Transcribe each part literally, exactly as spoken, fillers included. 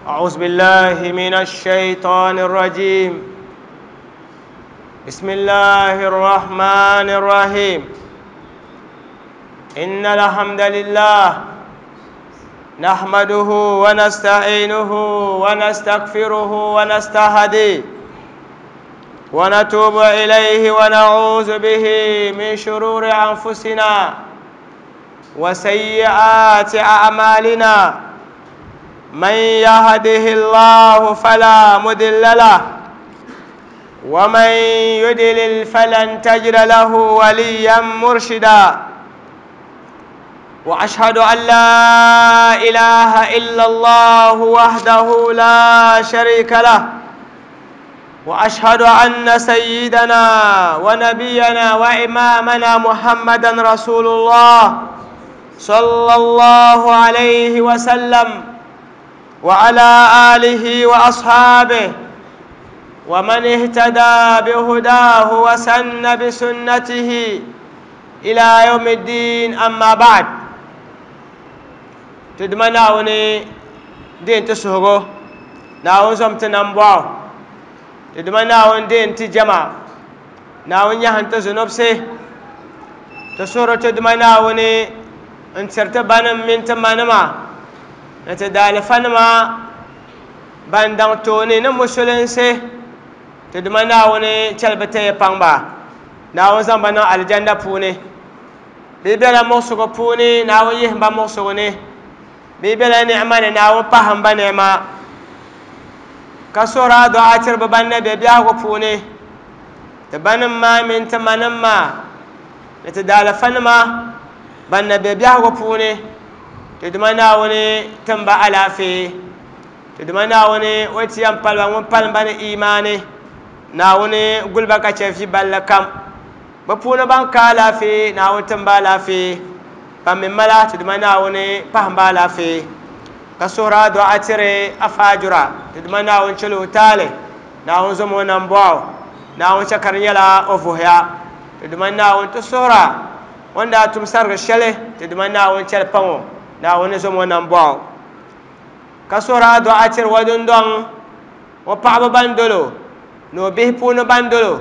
أعوذ بالله من الشيطان الرجيم. بسم الله الرحمن الرحيم. إن الحمد لله نحمده ونستعينه ونستغفره ونستهديه ونتوب إليه ونعوذ به من شرور أنفسنا وسيئات أعمالنا. من يهده الله فلا مضل له ومن يضلل فلن تجد له وليا مرشدا. وأشهد أن لا إله إلا الله وحده لا شريك له، وأشهد أن سيدنا ونبينا وإمامنا محمدا رسول الله صلى الله عليه وسلم وعلى آله وأصحابه ومن اهتدى بهداه وسن بسنته إلى يوم الدين. أما بعد، تدمناوني دين تسهغو ناون زمت نمبواو تدمناون دين تجمع ناون يهن تزنبسي تسورة تدمناوني انترت بانم من تمانما نتدالفنما باندان توني نمسلنسي تدمناوني چلبتي پانبا ناون زنبنا الجنة پوني بيبلا مغسغو پوني ناون يهنبا مغسغو بيبلا نعمة ناون پاهم با نعمة كسورة دعاء ترب بنا بيبياغو پوني تبنم ما من تمنم ما نتدالفنما بنا بيبياغو پوني تدمناوني تنبا علافي تدمناوني ويتيام پلوان وپلن بنا إيماني ناوني قلبا كشفي بلكم بپونو بان كالافي ناون تنبا لافي بامن ملا تدمناوني پهم بالافي كسورة دعاء تري أفاجرا تدمناون چلو تالي ناون زمو نمبواو ناون شكرنيلا أوفوهيا تدمناون تسورة وندا تمسر الشلي تدمناون چل پمو ناون زمو نمبواو كسورة دعاء تري ودندون وپعب بندلو نو به پونو بندلو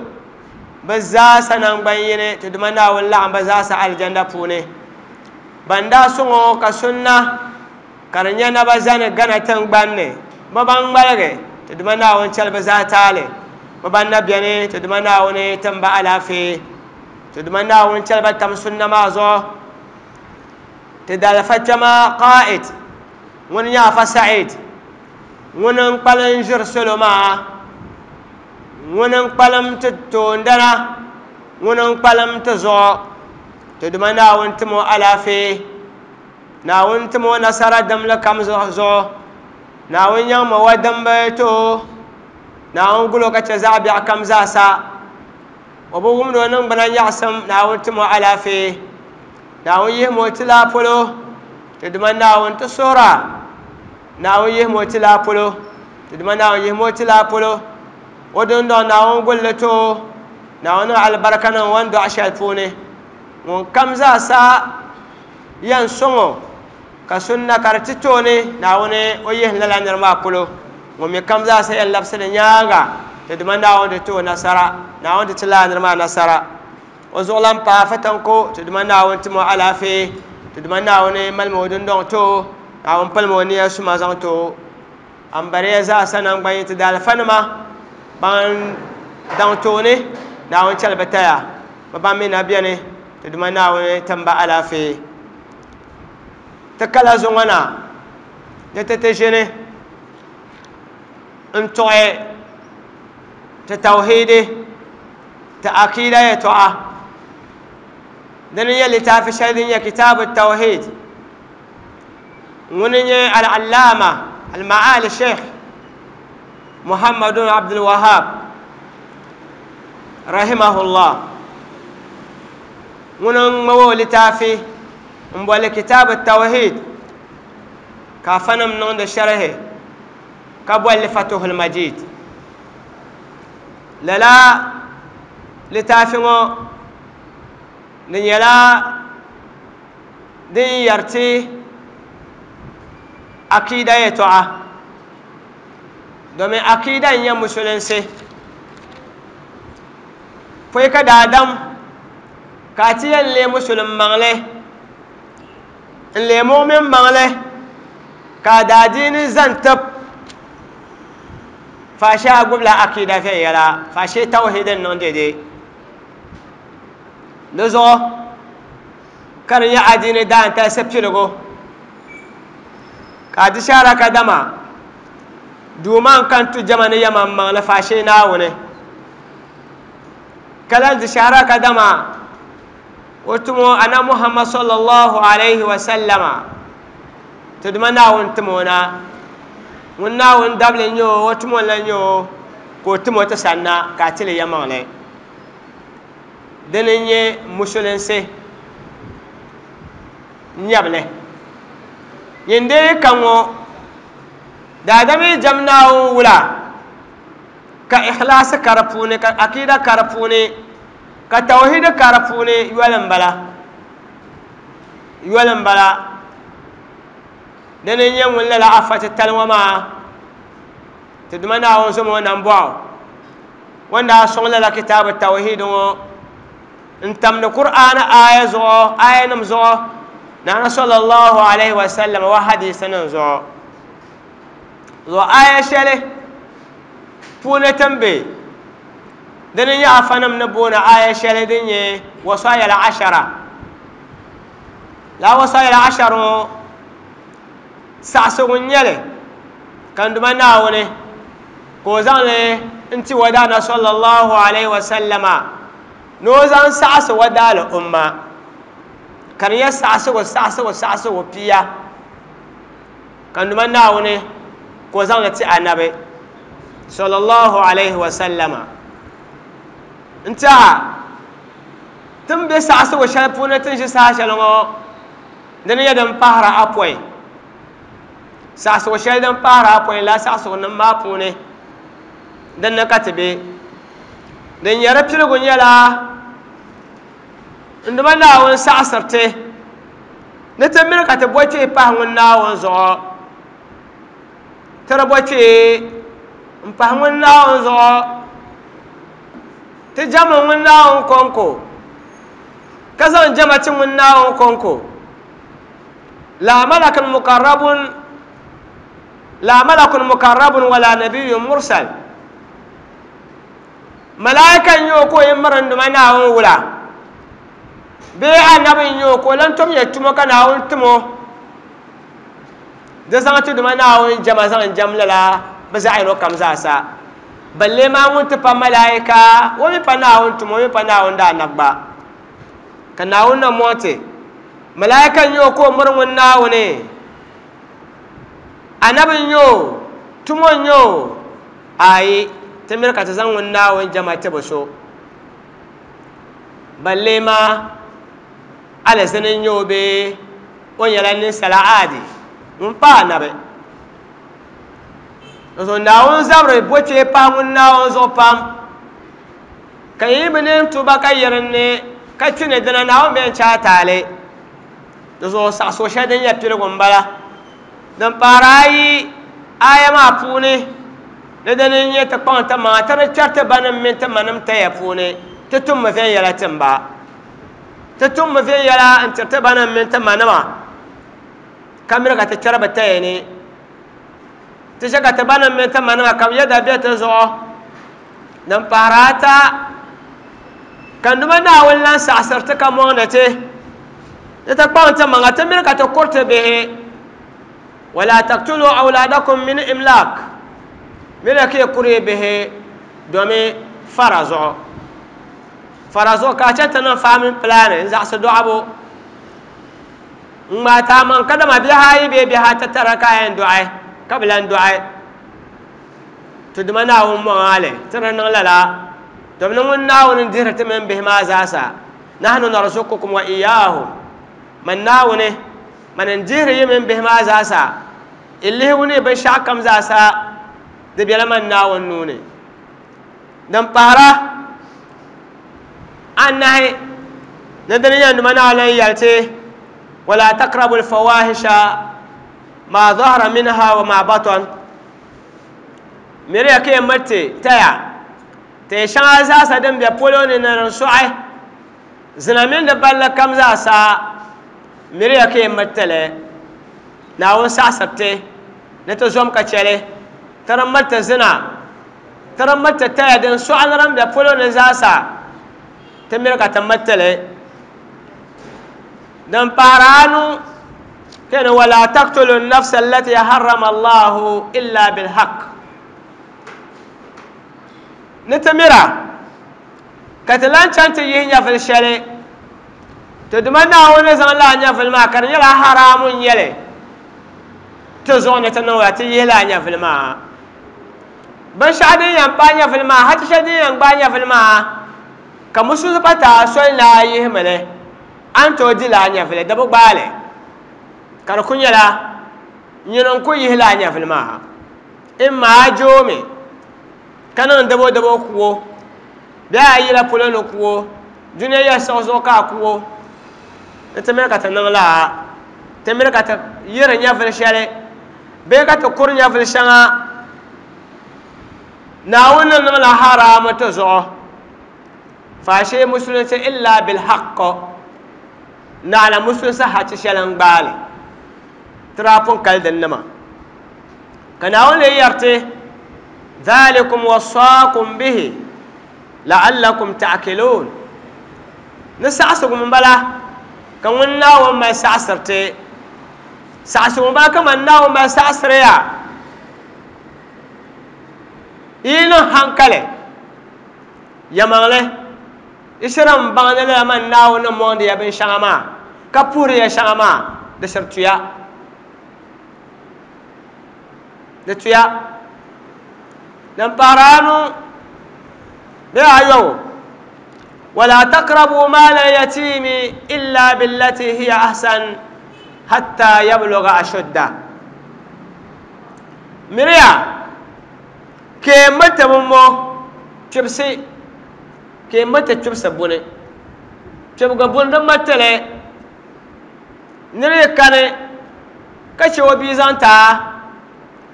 بزاسا نانبيني تدمناون لعن بزاسا الجنة پوني بندا سونو كسنة كرنيا نبزان غنا تنغباني مبان تدمناون چل بزاتالي مبان نبياني تدمناون تنبا علافي تدمناون چل بتم سنة مازو تدالفتما قائد ونيا فسعيد وننقلن جرسلو ما وننقلم تتوندنا وننقلم تزو تدمناون تمو علافي ناون تمو نصر دم لكم زو ناون يوم ودم بيتو ناون قلو كتزعب كم زاسا وبوهم نون بنا يعصم ناون تمو علافي ناون يهمو تلابلو تدمناون تسورة ناون يهمو تلابلو تدمناون يهمو تلابلو ودون دون ناون قلتو ناون على البركة ناون دو عشالفوني ŋun kam zaasa yan sɔŋɔ ka sunna ka di ti tooni naawuni o yihi lala nira maa polo ŋun mi kam zaasa yan labisi di nyaanga ti dima naawuni di ti o nasara naawuni di ti lala nira maa nasara o zuɣulan paai fatanko ti dima naawuni timi o alaafee ti dima naawuni malimi o dundɔŋ ti o naawuni palimi o niya suma zaŋ ti o ambariya zaasa nangbanyi ti daalifanima ban daŋ tooni naawuni chɛli bi taya bi ban mi na beni تدمنا ناوني تنبا علافي تكلا زغنا نتتجني انتوي تتوحيدي تأكيدا يتوعى دنيا اللي تافي دنيا كتاب التوحيد ونني العلامة المعالي الشيخ محمد بن عبد الوهاب رحمه الله ŋuni ŋma o litaafi n boli kitaab tawhid ka afanim niŋdi sharhi ka bolli fatuhul majid lala litaafi ŋɔ di nyɛla din yɛriti akida yɛltɔɣa Domin akida n-nyɛ musulinsi pɔi ka daadam ka a ti yɛn leei musulin maŋli n leei mu'min maŋli ka a daadiini zan tib faashee a gbubila akida viɛnyɛla faashee tawhid n niŋ dede di zuɣu ka di nyɛ adiini daantalisi piligu ka a di shahara kadama duuma n kan tu jama ni yɛman maŋli faashee Naawuni ka lan di shahara kadama o tumo ana Muhammad sallallahu alaihi wa sallama ti duma Naawuni timo na ŋun Naawuni dabili n-nyɛ o o tumo n-lan nyɛ o ka o timo ti sanna ka a tili yɛmaŋli dini n-nyɛ musulinsi nyɛbili nyin dee ka ŋɔ daadam yi jam Naawuni wula ka ikhlaasi ka di puuni ka akida ka di puuni ka tawhid ka di puuni yoli m-bala yoli m-bala dini n-nyɛ ŋun lala afa titali ŋɔ maa ti duma Naawuni zom o nambɔɣu o ni daa sɔŋ lala kitaabu tawhid ŋɔ n tamdi Qur'aan aya zuɣu ayanima zuɣu Naana sallallahu alaihi wa sallam wa hadisinima zuɣu zuɣu aya shɛli puuni tin be dini nyɛ afanim ni booni aya shɛli din nyɛ wasaya al-ashara la wasaya al-ashara ŋɔ saɣasigu n-nyɛli ka n duma Naawuni ka o zaŋli n-ti wadaana sallallahu alaihi wa sallama ni o zaŋ saɣasi wadaali umma ka di nyɛ saɣasigu saɣasigu saɣasigu pia ka n duma Naawuni ka o zaŋli ti anabi sallallahu alaihi wa sallama n tiɛha tin be saɣasigu shɛli puuni tin ʒi saha shɛli ŋɔ dini nyɛ din pahiri apɔi saɣasigu shɛli din pahiri apɔi la saɣasigu nim maa puuni dinni ka ti be din nyɛ di piligu nyɛla n duma Naawuni saɣasiri ti ni ti mini ka ti bo kpee pahi ŋun Naawuni zuɣu ti di bo kpee n pahi ŋun Naawuni zuɣu ti jami ŋun Naawuni kɔŋko ka zaŋ jama ti ŋun Naawuni kɔŋko la malakun mukarrabun la malakun mukarrabun wala nabiyyun mursal malaika n-nyɛ o ka o yi miri n duma Naawuni wula bee anabi n-nyɛ o ka o lan tom ya tumo ka Naawuni timo di zaŋ ti duma Naawuni jama zaŋ jam lala bɛ zaɣ yino kam zaasa balle maa ŋun ti pa malaika o mi pa Naawuni tumo o mi pa Naawuni daanabi gba ka Naawuni na mɔŋ ti malaika n-nyɛ o ka o miri ŋun Naawuni anabi n-nyɛ o tumo n-nyɛ o ayi ti miri ka ti zaŋ ŋun Naawuni jama ti bi so balle maa alizini n-nyɛ o bee o nyɛla ninsala aadi ŋun pa anabi so Naawuni zabiri bo kpee pahi ŋun Naawuni zuɣu pam ka yi bi neen tuba ka yɛri ni ka kpi ni dina Naawuni bɛn chɛ a taali di zuɣu saɣasigu shɛli din nyɛ piligu m-bala din pahiri ayi aya maa puuni ni dini n-nyɛ ti kpaŋ ti maŋa ti di kpɛri ti banim mini ti manim taya puuni ti tummi viɛnyɛla timba ti tummi viɛnyɛla n-tiri ti banim mini ti manima ka miri ka ti kpɛri bi taya ni ti chɛ ka ti banim mini ti manima ka bi yɛda be ti zuɣu din pahiri ata ka n duma Naawuni lan saɣasiri ti ka mɔŋdi ti ni ti kpaŋ ti maŋa ti miri ka ti kuri ti bihi wala taqtulu awladakum min imlak miri ka yi kuri bihi domi fara zuɣu fara zuɣu ka a chɛ ti niŋ family planning n zaɣasi dɔɣibu n ŋmaai taamaŋ kadama bihi ayi bee bihi ata tara ka a yɛn dɔɣi ka bi lan dɔɣi ti duma Naawuni mɔŋ ali ti di niŋ lala domi ni ŋun Naawuni n dihiri ti mini bihi maa zaasa nahnu narzuqukum wa iyyahum man Naawuni man n dihiri yi mini bihi maa zaasa n lihigu ni binshaɣu kam zaasa di bela man Naawuni nuu ni din pahira anahi ni dini nyɛ duma Naawuni lan yɛli ti wala taqrabu al-fawahisha ma zahara minha wa ma batan Miriya ka mirti taya te shɛŋa zaasa din be polo ni ni din sɔɣi zina mini di balli kam zaasa miriya ka mirtili Naawuni saɣasiri ti ni ti zom ka chɛli ti di mirti zina ti di mirti taya din sɔɣi ni din be polo ni zaasa ti miri ka ti mirtili din pahari anu kene wala taqtulu an-nafsa allati harrama Allahu illa bil-haqq ni ti mira ka ti lan chaŋ ti yihi nyɛvili shɛli ti Duuma Naawuni ni zaŋ lala nyɛvili maa ka di nyɛla haraamu n-nyɛli ti zuɣu ni ti niŋ ti yihi lala nyɛvili maa binshɛɣu din yɛn paai nyɛvili maa hachi shɛli din yɛn gbaai nyɛvili maa ka musulisi pa taai soli ni a yihimi li a ni tooi di lala nyɛvili di bi gbaai li ka di ku nyɛla nyini n ku yihi lala nyɛvili maa imma a joomi ka niŋ dabo dabo kuo bee a yila polo ni kuo dunia yɛli siɣi zuɣu ka a kuo ni ti miri ka ti niŋ laa ti miri ka ti yiri nyɛvili shɛli bee ka ti kuri nyɛvili shɛŋa Naawuni ni niŋla haraamu ti zuɣu faashee musulinsi illa bilhaqq naɣila musulinsi hachi shɛli n gbaali ti daa pun kali din nima ka Naawuni lee yɛri ti dhalikum wasaakum bihi la'allakum ta'qilun ni saɣasigu m bala ka ŋun Naawuni mali saɣasiri ti saɣasigu m bala ka man Naawuni mali saɣasiri ya yi niŋ hankali yɛmaŋli yi shiri n baŋ ni lala man Naawuni ni mɔŋdi ya binshɛŋa maa ka puhiri ya shɛŋa maa di shiri tuya di tuya din pahiri anu bee ayɔbu wala taqrabu maala al-yatimi illa billati hiya ahsan hatta yabluga ashudda miriya ke mati mo kpibisi ke mati kpibisi buni kpibigi buni din matili niri yi kani ka che o bia zaŋ taa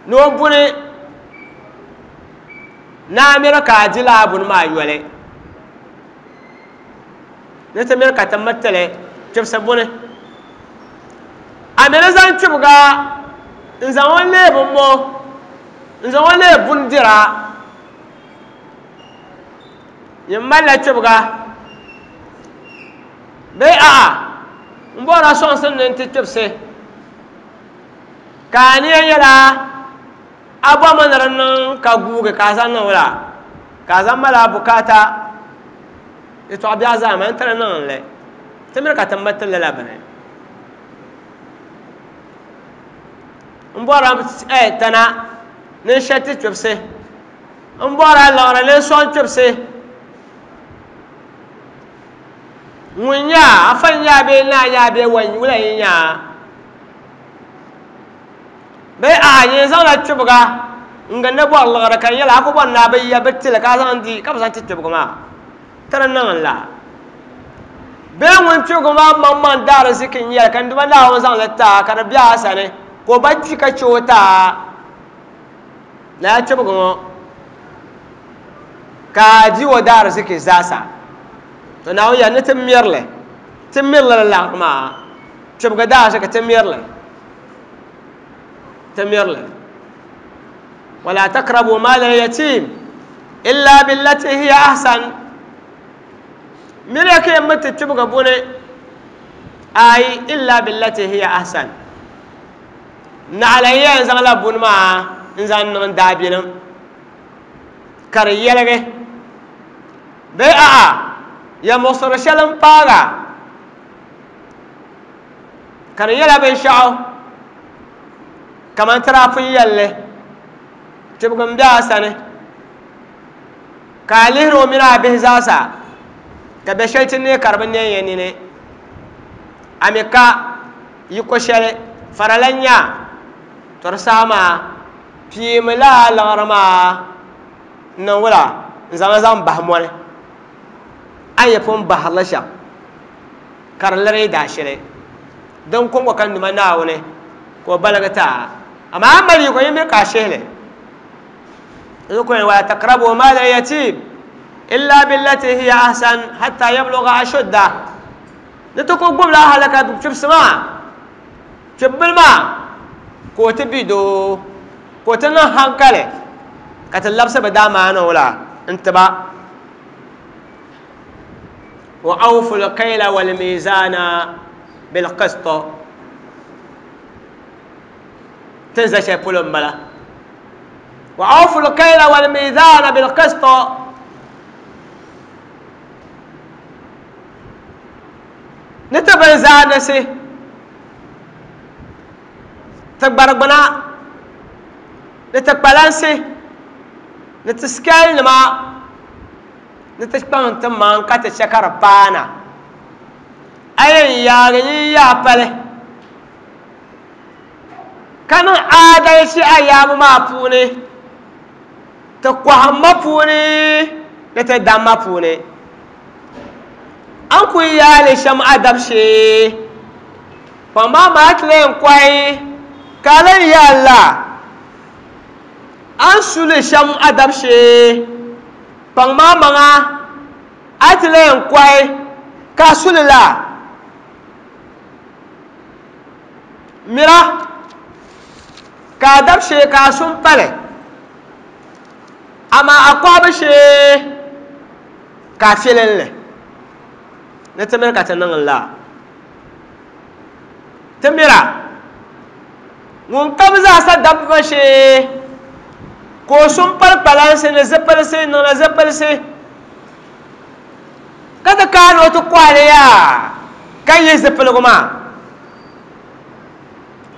ni o buni ni a miri ka a di lala buni maa yoli ni ti miri ka ti miriti kpibisi buni a mi ni zaŋ kpibiga n zaŋ o leei bi mo n zaŋ o leei buni dira nyin malila kpibiga bee a'a n bɔrila sɔŋsim ni n ti kpibisi ka a niya nyɛla a bɔrimi ni di niŋ ka guugi ka a zaŋ niŋ wula ka a zaŋ mali a bukaata yɛltɔɣa biɛɣu zaa maa n ti di niŋ li ti miri ka ti miri lala bini n bɔrila tana ni n shɛli ti kpibisi n bɔrila liɣiri ni n sɔŋ kpibisi ŋun nyaa afa n nyaa bee naa nyaa bee wula n nyaa bee a nyin zaŋla kpibiga n gindi bɔri liɣiri ka di nyɛla a ku bɔri ni a bi ya bi tili ka a zaŋ di ka bi zaŋ ti kpibigi maa ti di niŋ n la bee ŋun kpibigi maa maŋmaŋ daari ziki n nyɛli ka n Duuma Naawuni zaŋ li taa ka di be a sani ka o ba kpi ka che o taa lala kpibigi ŋɔ ka a di o daari ziki zaasa to Naawuni yɛli ni ti mirili ti mirili li laɣiri maa kpibigi daari ziki ti mirili ti mirili wala taqrabu maala al-yatim illa billati hiya ahsan miriya ka yɛn mi ti kpibigi buni ayi illa billati hiya ahsan naɣila n yɛn zaŋla buni maa n zaŋ niŋ daabilim ka di yɛligi bee a'a ya muɣusiri shɛli n paaga ka di nyɛla binshaɣu kamani ti daa pun yɛlli tibigi n bɛ a sani ka a lihiri o mini a bihi zaasa ka bɛ shɛli ti neei ka di bi neen ya nini a mi ka yiko shɛli farala n nya to di saha maa piimi lala liɣiri maa n niŋ wula n zaŋ zaŋ bahi mɔni a ni pun bahirili shɛm ka di liri daashili din kɔŋko ka n Duuma Naawuni ka o baligi ti a amaa a mali yiko yi miri ka a shihili ولا تقربوا مال اليتيم إلا بالتي هي أحسن حتى يبلغ أشده نتكو قبل أهلك بشوف سما شوف بالماء كوت بيدو كوت نهانكله كتلبس بداما أنا ولا انتبه وأوفوا الكيل والميزان بالقسط تنزل شيء بولم بلا وأوفوا الكيل والميزان بالقسط نتبع زانسي تكبرنا نتبالانسي نتسكال ما نتشبان تمان كاتشكر بانا أي يا يا بالي كان عادل شيء أيام ما بوني تقوى ما بوني نتدم ما بوني أنكو يا لشم أدب شيء فما ما تلين كوي قال يا الله أنسو لشم أدب شيء فما ما أتلين كوي كاسول لا ميرا كادب شيء كاسوم بالي أما أقوى شيء كافيلن له نتمنى كاتنن الله تميرا ŋun kam zaasa dabba shee ka o sun pali kpalansi ni zipilisi niŋla zipilisi ka ti kaani o ti kɔhili yaa ka yi zipiligu maa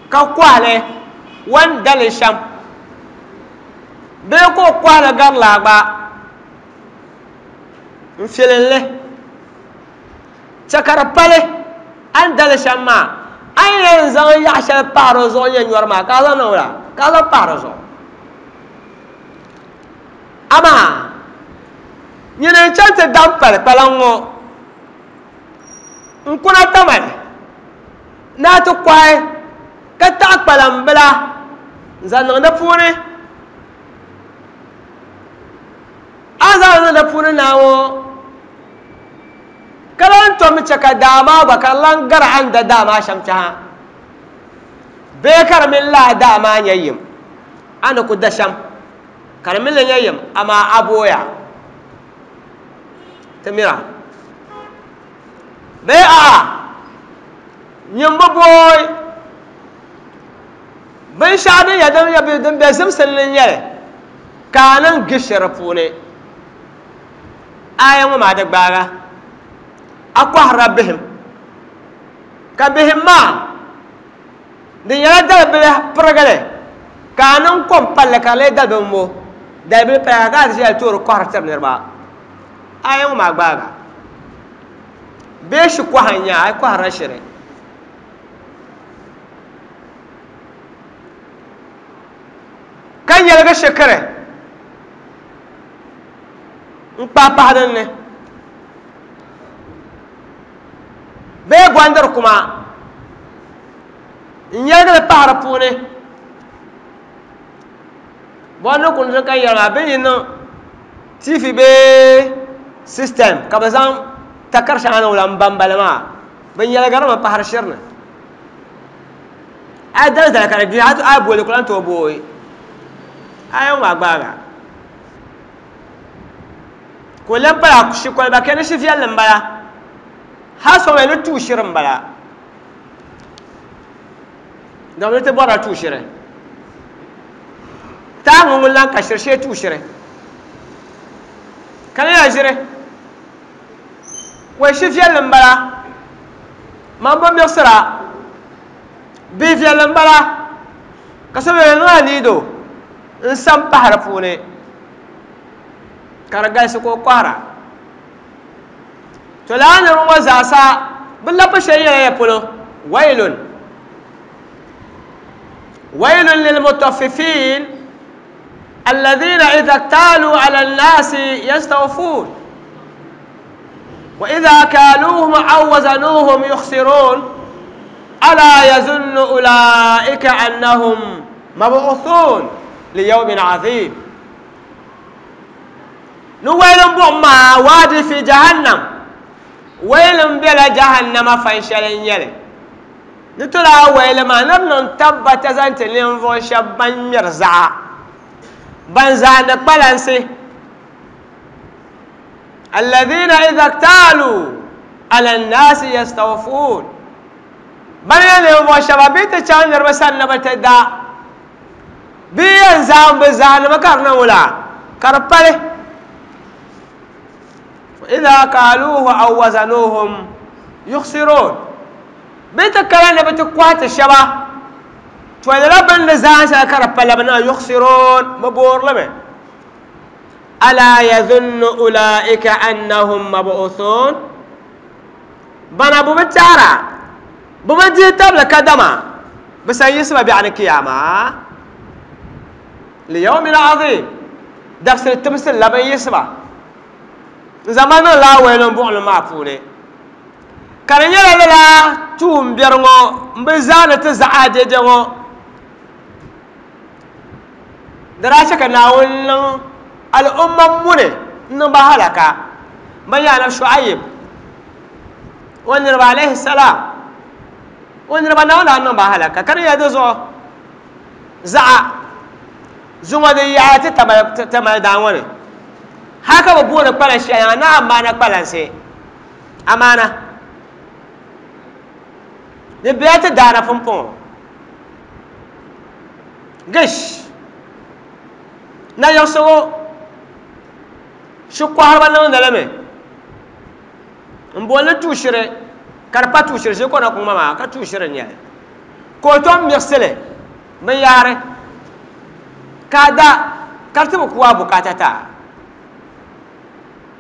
ka kɔhili wan dali shɛm bee ka o kɔhili gari laa gba n filinli chɛ ka di pali a ni dali shɛm maa a ni yɛn zaŋ yaɣa shɛli pahi di zuɣu nyɛ nyɔri maa ka a zaŋ niŋ la ka a zaŋ pahi di zuɣu amaa nyini n chaŋ ti dam pali kpalaŋ ŋɔ n kuna tamali ni a ti kɔhi ka taɣi kpalaŋ bila n zaŋ niŋ di puuni a ni zaŋ niŋ di puuni naa ŋɔ ka lan tom chɛ ka daa maa gba ka di lan gari a ni da daa maa shɛm tɛha bee ka di mini laa daa maa nyɛ yim a ni ku da shɛm ka di mini li nyɛ yim amaa a booya ti mira bee a'a nyin bi booi binshɛɣu din yɛ din yɛ din bɛ zimsim ni n-nyɛli ka a niŋ gishiri puuni aya ŋɔ maa di gbaaga a kɔhirila bihim ka bihim maa di nyɛla dalibili pirigili ka a niŋ kom palli ka di lee dalibili mo dalibili paya ka a ti ʒiya toori kɔhiri tiri niriba aya ŋɔ maa gbaaga bee shi kɔha n-nyɛ a kɔhirila shiri ka nyɛligi shikiri n kpahi pahi dinni bee gondiri kuma n nyɛligi li pahi di puuni bɔndi kuni din ka yɛli maa bɛ yi niŋ T V bee system ka bɛ zaŋ takari shɛŋa niŋ la n bambali maa bɛ nyɛligirimi pahari shiri ni a yi dali dali ka di gbi a booli ku lan tooi booi a yɛn maa gbaaga ka o lan pala shi koliba kɛ ni shi viɛlli n bala hali so mi ni tuui shiri n bala domi ti bɔrila tuui shiri taa ŋun ŋun lan ka shiri shee tuui shiri ka ni ya ʒiri wai shi viɛlli n bala man bi miɣisira bihi viɛlli n bala ka so mi niŋla liido n sam pahi di puuni ka di galisi ka o kɔhira to laa niriba ŋɔ zaasa bɛ labi shɛli nyɛla ya polo wailun wailun lilmutaffifin alladhina idha ktaalu ala nnasi yastawfun wa idha kaaluuhum aw wazanuuhum yukhsirun ala yazunnu ulaika annahum mabu'uthun liyawmin azim. Ni wailin buɣum maa waadi fi jahannam wailin bela jahannama fan shɛli n nyɛli ni ti laa waili maa ni di niŋ tabbata zaŋ ti ninvuɣu shɛba ban ŋmɛri zaɣa ban zaandi kpalansi alladhina idha ktaalu ala nnaasi yastawfuun ban nyɛ ninvuɣu shɛba bɛ ti chaŋ niriba sani ni bi ti da bɛ yɛn zaŋ bi zaandimi ka di niŋ wula ka di pali idha kaaluuhu aw wazanuuhum yukhsiruun bɛ ti kana ni bɛ ti kɔhi ti shɛba to lala bini ni zaan shɛli ka di pala bi niŋ yukhsiruun bi boorili mi alaa yadhunnu ulaika annahum mabu'uthun bana bu bi taara bu bi dihi tabili kadama bi san yiɣisi ba biɛɣu ni kiyama liyawmin azim dabisili timsili la bin yiɣisi ba n zaŋ ba niŋ laa wailin buɣuli maa puuni ka di nyɛla lala tuun biɛri ŋɔ n bi zaani ti zaɣa dɛdɛ ŋɔ di daa chɛ ka Naawuni niŋ al'umma muni n niŋ ba halaka ban nyɛ anabi Shuaib o niriba alayhi salam o niriba Naawuni daa niŋ ba halaka ka di nyɛla di zuɣu zaɣa zuŋɔ di yaɣa ti tamali daa ŋɔ ni hali ka bi booni kpalan shɛli na amaana kpalansi amaana di bela ti daana pumpɔŋɔ gish na yiɣisigu shikɔhiriba niŋdi li mi n booni tuushiri ka di pa tuushiri ʒe kɔna kuŋ maa ka tuushiri n nyɛli ka o tom miɣisili binyahari ka a da ka di ti bi ku a bukaata taa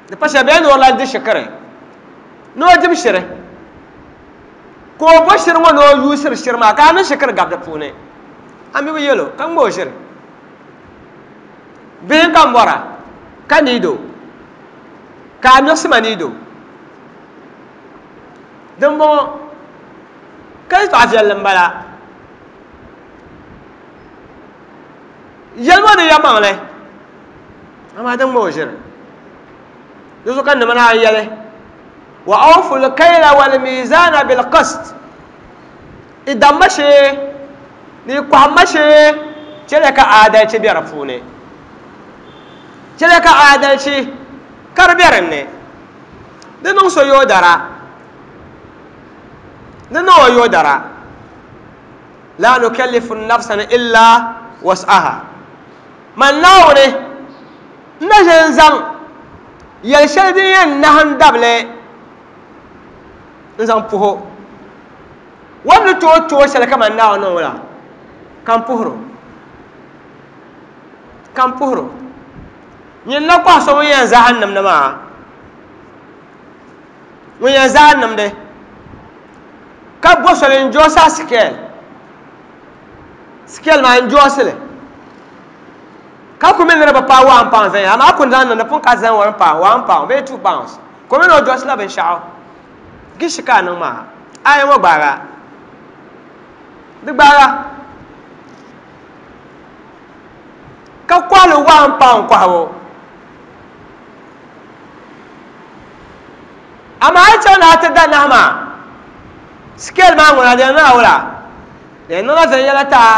di pa shɛli bee ni o lan di shikiri ni o dim shiri ka o bo shiri ŋɔ ni o yuusiri shiri maa ka a niŋ shikiri gabi di puuni a mi bi yɛlo ka ŋma o ʒiri bihi ka n bɔra ka niido ka a miɣisi ma niido din bɔŋɔ ka yɛltɔɣa viɛlli n bala yɛli ŋɔ di yɛlimaŋli amaa din ŋma o ʒiri di zuɣu ka nima naan yɛli wa awfu lkayla walmizana bilqist i damma shee ni i kɔhimma shee chɛliya ka aadalchi be di puuni chɛliya ka aadalchi ka di be dinni di niŋ so yoodara di niŋ o yoodara la nukallifu nafsan illa was'aha man Naawuni n na ʒe n zaŋ yɛli shɛli din yɛn nahim dabili n zaŋ puho o ni tooi tooi shɛli kaman Naawuni niŋ la ka n puhiro ka n puhiro nyin na kɔhi so ŋun yɛn zahim nimdi maa ŋun yɛn zahim nimdi ka bo soli n joosi a sikɛl sikɛl maa n joosi li ka ku mi ni di bi paai one pound viɛnyɛla amaa a ku zaŋ niŋdi pun ka zaŋ one pound one pound bee two pounds ka o mi ni o joosi la binshaɣu gishi ka a niŋ maa aya ŋɔ gbaaga di gbaaga ka kɔhili one pound kɔhibu amaa a yi chaŋ ni a ti da nahi maa sikɛl maa ŋuna di niŋla wula di niŋla viɛnyɛla taa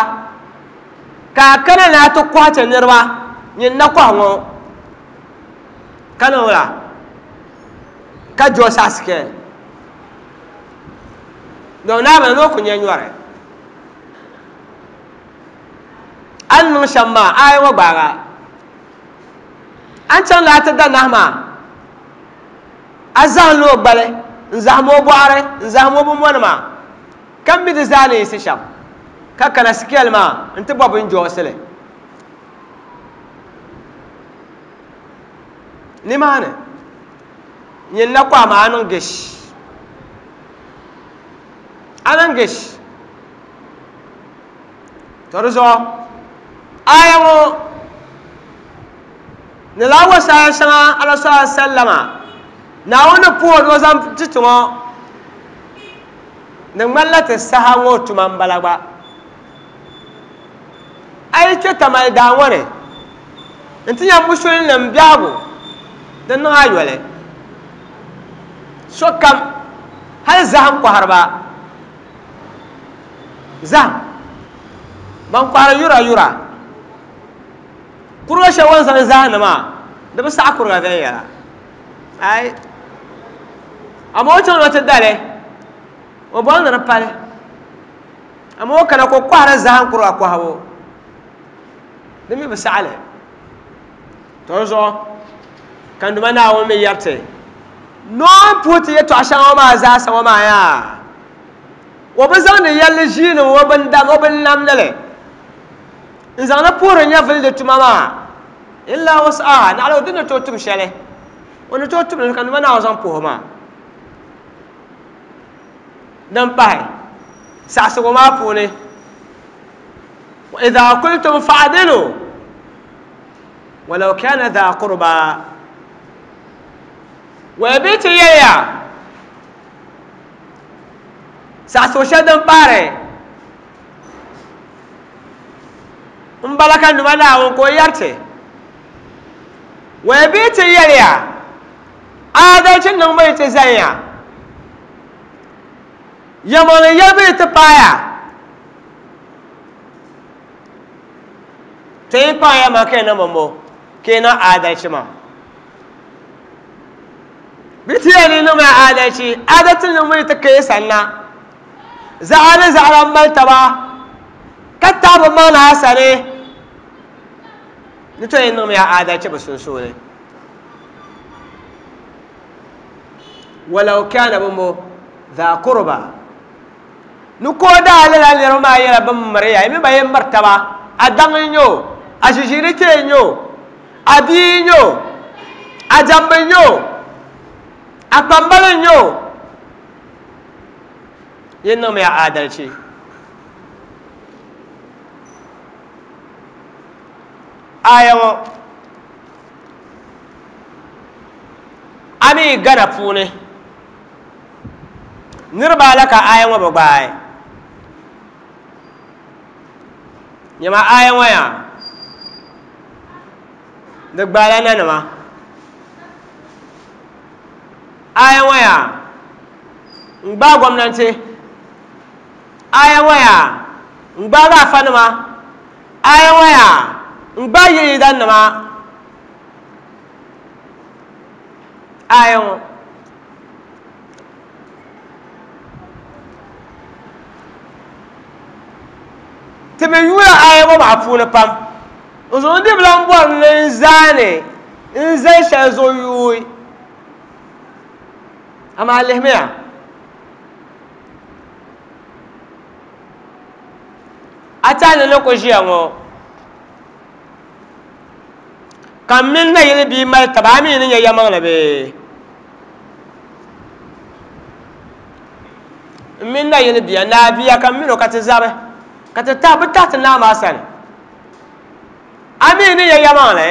ka a kana ni a ti kɔhi ti niriba nyin na kɔhi ŋɔ ka niŋ wula ka joosi a sikɛl don Naawuni ni o ku nyɛ nyɔri a ni niŋ shɛm maa aya ŋɔ gbaaga a ni chaŋ ni a ti da nahi maa a zahim li o gbali n zahim o bɔɣiri n zahim o binmɔnima ka mi di zaa ni yiɣisi shɛm ka kana sikɛl maa n ti bɔ bin joosili nimaani nyin na kɔhi maa a niŋ gish a niŋ gish to di zuɣu aya ŋɔ ni laa wasaaya shɛŋa ala sallallahu alaihi sallama Naawuni ni puhi o ni o zaŋ ti ti ŋɔ di ŋmanila ti saha ŋɔ tuma n bala gba a yi kpɛ tamali daa ŋɔ ni n ti nya musulinnim biɛhigu Di niŋ a yoli sokam hali zaham kɔhiriba zaham ban kɔhiri yura yura kuriga shɛli o ni zaŋ zaham maa di bi saɣi kuriga viɛnyɛla ai amaa o chaŋ ni o ti dali o bɔri ni di pali amaa o kana ka o kɔhiri zaham kuriga kɔhibu di mi bi saɣi li to di zuɣu ka n Duuma Naawuni mi yɛri ti noo puhi ti yɛltɔɣa shɛŋa maa zaasa ŋɔ maa yaa o bi zaŋdi yɛlli ʒiini o bin namdili n zaŋdi puhiri nyɛvuli di tuma maa illa wus'aha naɣila o di ni tooi tum shɛli o ni tooi tumli ka n Duuma Naawuni zaŋ puhi maa din pahi saɣasigu maa puuni wa idha qultum fa'dilu walau kana dha qurba wa bi ti yɛliya saɣasigu shɛli din pahiri n bala ka n Duuma Naawuni ka o yɛri ti wa bi ti yɛliya adalchi niŋbu yi ti zanya yɛlimaŋli yɛlibu yi ti paaya to yi paaya maa ka yi niŋ bɔmbɔ ka yi niŋ adalchi maa bi ti yɛli ni niŋmiya adalchi adalchi niŋbu yi ti ka yi sanna zaɣa ni zaɣa n mali taba ka taɣi bi maŋ na a sani ni to yi niŋmiya adalchi bi sunsuuni walau kana bɔmbɔ dha qurba ni ko daa lala niriba maa nyɛla bin miriya yi mi ba yɛn miri taba a daŋ n nyɛ o a ʒiʒiini kpee n nyɛ o a bia n nyɛ o a jɛmbi n nyɛ o a kpambali n nyɛ o yin niŋmiya adalchi aya ŋɔ a mi Gana puuni niriba ala ka aya ŋɔ bi gbaai nyɛma aya ŋɔ yaa di gbaala nanima aya ŋɔ yaa n gbaai gomnanti aya ŋɔ yaa n gbaagi afanima aya ŋɔ yaa n gbaai yiliyidanima aya ŋɔ ti mi yuula aya ŋɔ maa puuni pam n zuɣu di bi lan bɔri ni n zaani n zali shɛli zuɣu yuui amaa lihimiya a tani ni ku ʒiya ŋɔ ka m mini nayili bia mali taba a mi ni nyɛ yɛlimaŋli bee n mini nayili bia naa bia ka m mini o ka ti zabi ka ti tahi bi tahi ti naa maa sani a mi ni nyɛ yɛlimaŋli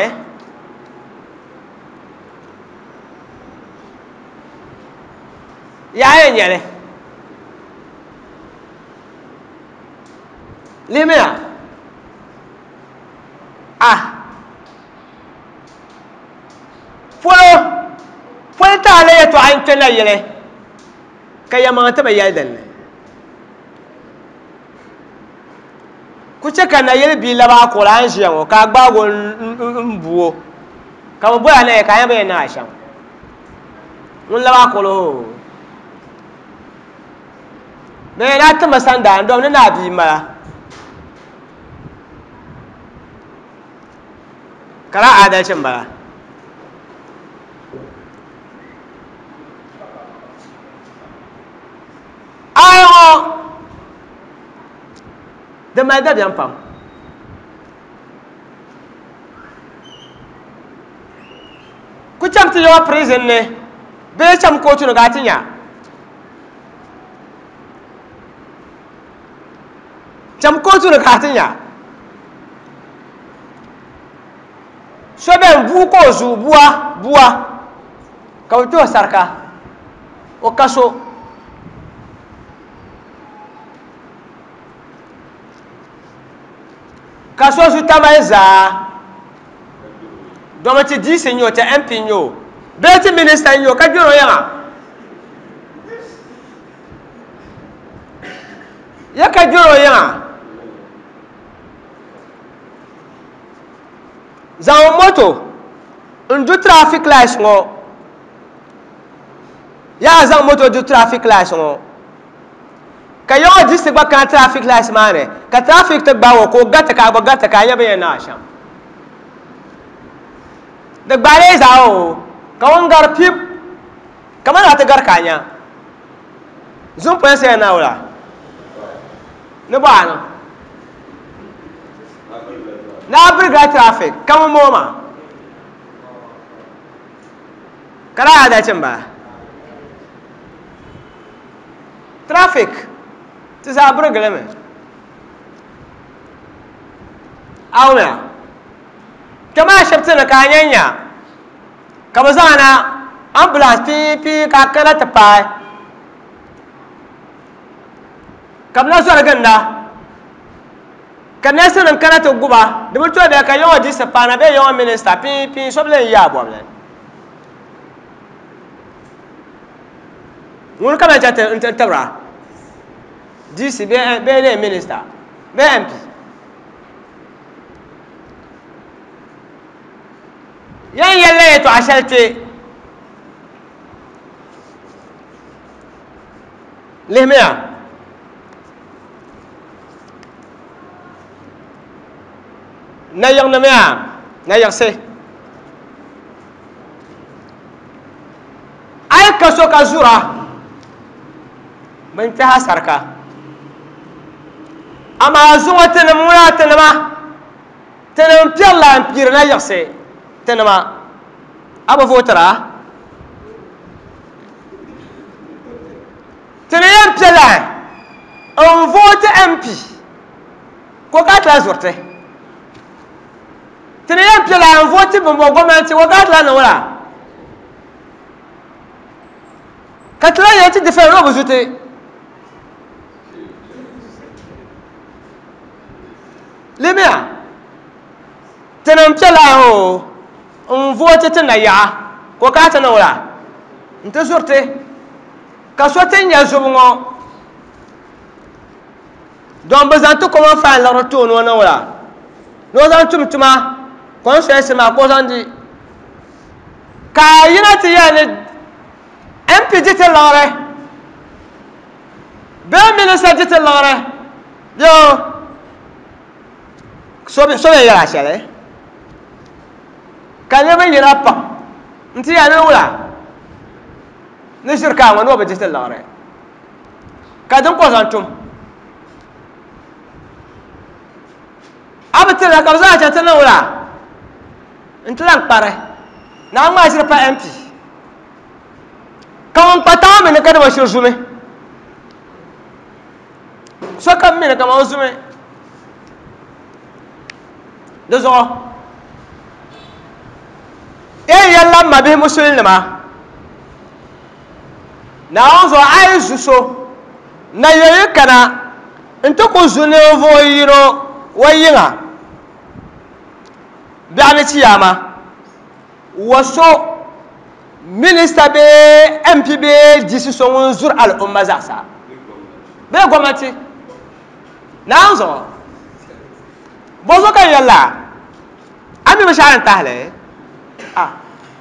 yaa yɛn nyɛli lihimiya ah polo polo taali yɛltɔɣa n kpɛ nayili ka yɛlimaŋli ti bi yɛli dinni ku chɛ ka nayili bia labi a kuɣuli a ni ʒiya ŋɔ ka a gbaagi o n bu o ka bi boli a naya ka a yɛn bi yɛn niŋ a shɛm ŋun labi a kuɣuli hoo bɛ yɛn a timi sandaa n dom ni naa bia m-bala ka di adalchi m-bala aya ŋɔ di mali dabiɛm pam ku cham ti yɛwa prison ni bee cham kootu ni ka a ti nya cham kootu ni ka a ti nya so bɛn bua ka o zuu bua bua ka bi kpɛ o sarika o ka so ka so zu tamali zaa domi ti D C n nyɛ o ti M P n nyɛ o Bee ti minista n-nyɛ o ka gbiri o yiŋa. Ya ka gbiri o yiŋa. Zaŋ moto n-du traffic lights ŋɔ. Yaa zaŋ moto du traffic lights ŋɔ. Ka yaŋɔ district gba kana traffic lights maa ni ka traffic ti gbaai o ka o gariti ka a gba gariti ka a nya bɛ yɛn naai shɛm. Di gbaai zaa o ka ŋun gari pip kamani a ti gari ka a nya. Zum polinsi yɛn naai wula ni bɔ a niŋ. Ni a birigila traffic ka ŋun moo maa. Ka daa adalci m-bala. Traffic ti zaa birigili mi. Awumiya. Kpɛma ashibiti ni ka a nya nya ka bɛ zaŋ na ambulance pii pii ka a kana ti paai ka bɛ na zɔri ginda ka nɛɛsi nim kana ti guba di bi tooi bɛ ka yaŋɔ diisi paana bee yaŋɔ minista pii pii so bi lee yi a bɔbili. Ŋuni ka bɛ chɛ ti tibira D C bee lee minista bee M P. Yan yɛlila yɛltɔɣa shɛli kpe lihimiya. Nayiɣinima yaa nayiɣisi. A yi ka so ka zura bɛn kpɛhi a sarika. Amaa zuŋɔ tinim ŋuna tinima tinim piɛrila m-piiri nayiɣisi tinima a bi vootira. Tini yɛn piɛla n-vooti M P ka o ka tila zuriti. Tini yɛn piɛla n-vooti bɛmbɔ gɔmnanti ka o ka tila niŋ wula. Ka tila yɛn ti defend o bi zuti. Limiya tinim piɛla o n-vooti ti nayaɣa ka o ka ti niŋ wula nti zuriti. Ka so ti nya zubu ŋɔ don bi zaŋ ti common fine liɣiri ti o ni o niŋ wula ni o zaŋ tum tuma constituency maa ka o zaŋ di. Ka a yina ti yɛli ni M P di ti liɣiri bee minista di ti liɣiri bee so bɛ yɛla shɛli ka niriba yina pam nti yɛli ni wula ni ʒiri ka ŋɔ ni o bi di ti liɣiri ka din ka o zaŋ tum. A bi tiri la ka bi zaŋ chaŋ ti niŋ wula n-ti lan kpari ni a ŋmaai ʒiri pa M P ka ŋun kpa taŋa mi ni ka dama shiri zumi sokam mi ni kama o zumi di zuɣu yɛn yɛlila m mabihi musulinima Naawuni zuɣu a yi zu so na yɛli kana n-ti ku zu ninvuɣ yino o yiŋa biɛɣu ni chiyaama wa so minista bee M P bee D C so ŋun zuri al'umma zaasa bee gɔmnanti Naawuni zuɣu bɔzuɣu ka n yɛlila a mi binshɛɣu din tahili a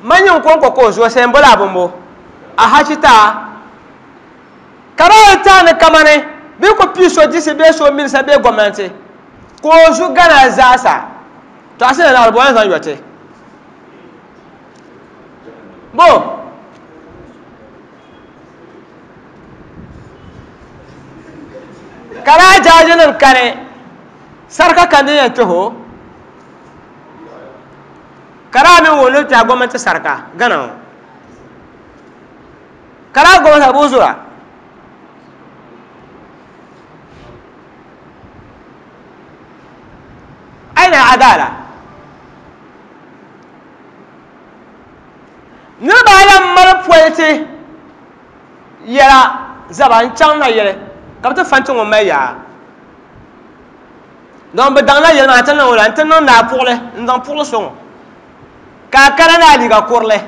ma nyin kɔŋko ka o zuo sai m-boli a bimbo a hachita ka di yi tahi ni kamani bɛ ku pii so D C bee so minista bee gɔmnanti ka o zu Ghana zaasa to a sina naɣiri bɔ yɛn zaŋ yɔ ti bo ka daa jaaji nim kani sarika kan din yɛn kpɛhi o ka daa mi wuhi ni kpɛhi gɔmnanti sarika Ghana ŋɔ ka daa gɔmnanti bɛ zura aina adala niriba ayi mali politi yɛla zaba n chaŋ na yɛli ka bi ti fanti ŋun mali yaa don bi daŋ na yɛli maa ti niŋ wula n ti niŋ naa puɣuli n zaŋ puɣuli so ŋɔ ka a kana ni a liiga kurili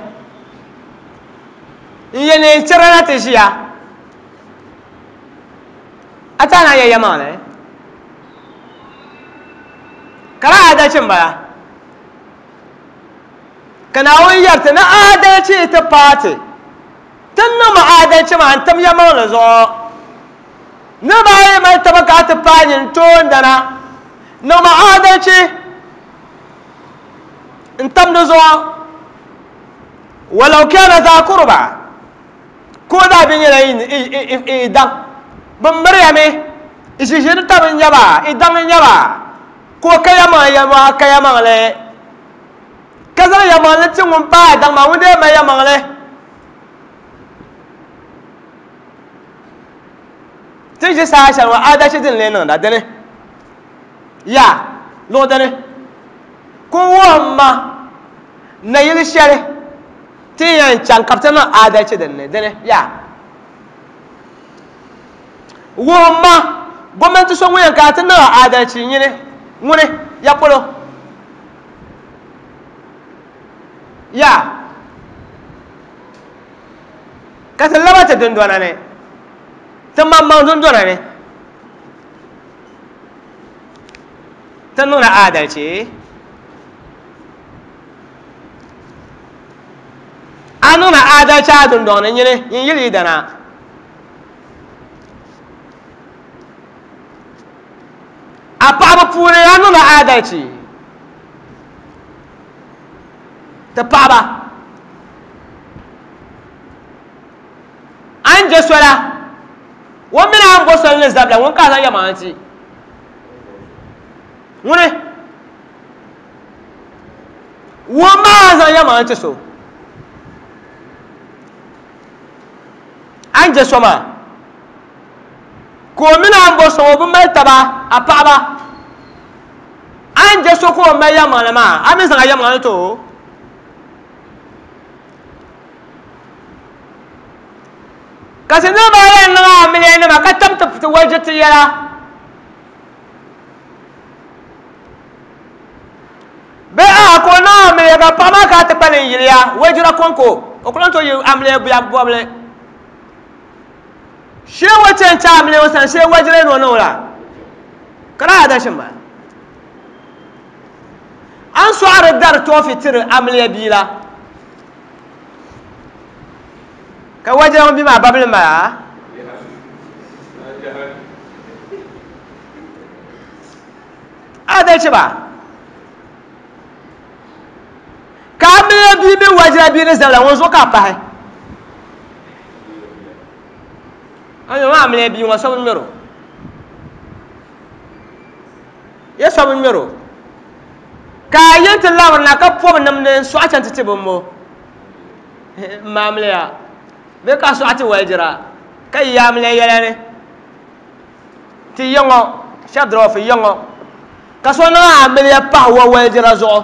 N ye neen chira na ti ʒiya a ti a naan yɛ yɛlimaŋli ka di adalchi n-bala ka Naawuni yɛri ti ni adalchi ti paati ti niŋmi adalchi maa n-tim yɛlimaŋli zuɣu niriba ayi mali taba ka a ti paai nyin toondana niŋmi adalchi n-tam di zuɣu walau kana za kurba ko daa bi nyɛla i daŋ bi miriya mi ʒiʒiri tabi n nyɛba i daŋ n nyɛba ka o ka yɛlimaŋli yɛlimaŋli ka yɛlimaŋli ka zaŋ yɛlimaŋli ti ŋun paai daŋ maa ŋun dee mali yɛlimaŋli ti ʒi saha shɛli ŋɔ adalchi din lee niŋda dini ya luɣ dini ka o wuhi ma nayili shɛli ti yɛn chaŋ ka bi ti niŋ adalchi dinni dini ya wuhi ma gomnanti so ŋun yɛn ka ti niŋ adalchi nyini ŋuni ya polo ya ka ti laba ti dundona ni ti maŋmaŋ dundona ni ti niŋla adalchi a niŋla adalchi a dundoŋ ni nyini nyin yili yidana a paɣaba puuni a niŋla adalchi ti paɣaba a ni je sola o mini a ni bo soli ni zabila ŋun ka a zaŋ yɛlimaŋli ti ŋuni wuhi maa a zaŋ yɛlimaŋli ti so a ni je so maa ka o mini a ni bo so o bi mali taba a paɣaba a ni je so ka o mali yɛlimaŋli maa a mi zaŋ a yɛlimaŋli ti o ka ti niriba ayi niŋ amiliya nima ka tam ti waljiri ti yɛla bee a ka o niŋ amiliya ka paɣa maa ka ti kpa ni yiliya waljira kɔŋko o ku lan tooi yi amiliya buya bɔbili shee o chɛ n-chɛ amiliya o sani shee waljira ni o niŋ o la ka di adalchi m-bala a ni sɔɣiri dari tɔɔfi tiri amiliya bia la ka wajira ŋun bi maa babili m-bala adalchi ba ka amiliya bia mini wajira bia ni zabila ŋun zuɣu ka a pahi a maa amiliya bia ŋɔ so bi ŋmɛri o ya so bi ŋmɛri o ka a yi ti labirina ka pɔbi nimdi n-sɔɣi chaŋ ti ti bimbo m amiliya bee ka sɔɣi ti waljira ka yi amiliya yɛla ni ti yaŋɔ shɛba dɔrɔfi yaŋɔ ka so niŋ amiliya pahi wa waljira zuɣu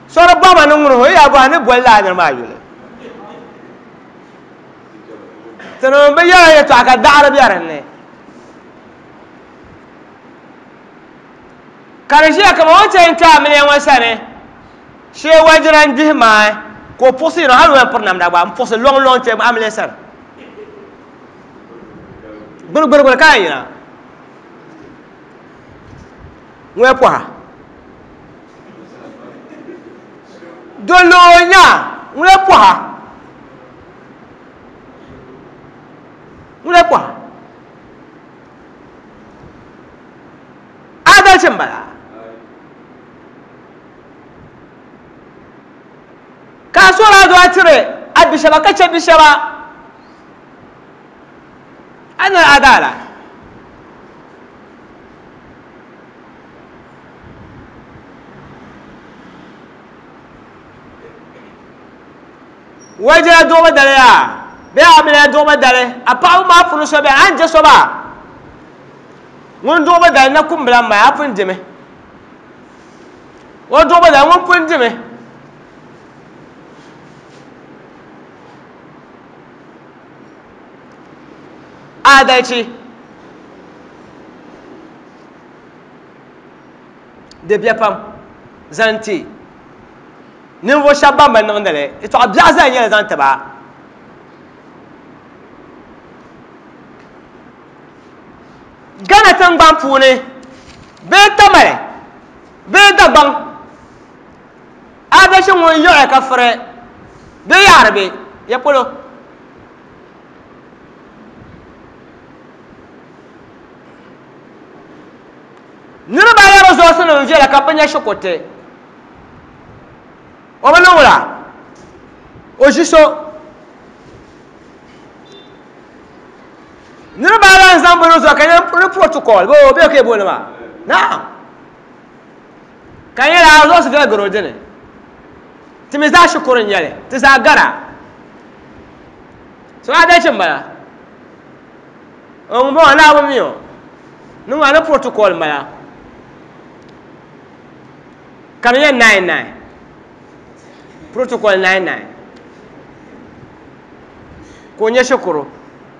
so di bɔhima ni ŋuni o yaa bɔhi ni boli laa niri maa yuli tinim bi yɛla yɛltɔɣa ka daɣari be dinni ka di ʒiya kaman o ni chɛ n-kpe amiliya ŋɔ sani shee wajira n-gbihi maai ka o puɣisi yino hali o yɛn piri namda gba n-puɣisi lɔŋlɔŋ kpe amiliya sani gbirigbirigbiri ka yɛn yina ŋun yɛn pɔha dolo o nya ŋun yɛn pɔha ŋun yɛn pɔha adalchi m-bala ka a sɔri a dɔɣi tiri a bi shɛba ka chɛ bi shɛba a ni adala wajira duɣubu dali yaa bee amiliya duɣubu dali a paɣaba maa puuni so beni a ni je so maa ŋun duɣubu dali na kumbila m-mali a pun dimi o duɣubu dali ŋun pun dimi adalchi di be pam zaŋ ti ninvuɣu shɛba ban bi niŋdi li yɛltɔɣa biɛɣu zaa nyɛla zaŋ ti ba Ghana tingbani puuni bee Tamale bee Dagbaŋ adalchi ŋun yiɣi ka firi bee yaɣari be ya polo niriba ayi resource nim viɛla ka bi nya shikuruti o bi niŋ wula o ʒi so niriba ayi n zaŋ bi resource ka nyɛ ni protocol bo bee ka booni maa naam ka nyɛla resource viɛla gari o dini ti mi zaa shikuru n nyɛli ti zaa gara so adalchi n bala ŋun bɔŋɔ naa bi mi o niŋ ni protocol n bala ka di nyɛ nine nine protocol nine nine ka o nyɛ shikuru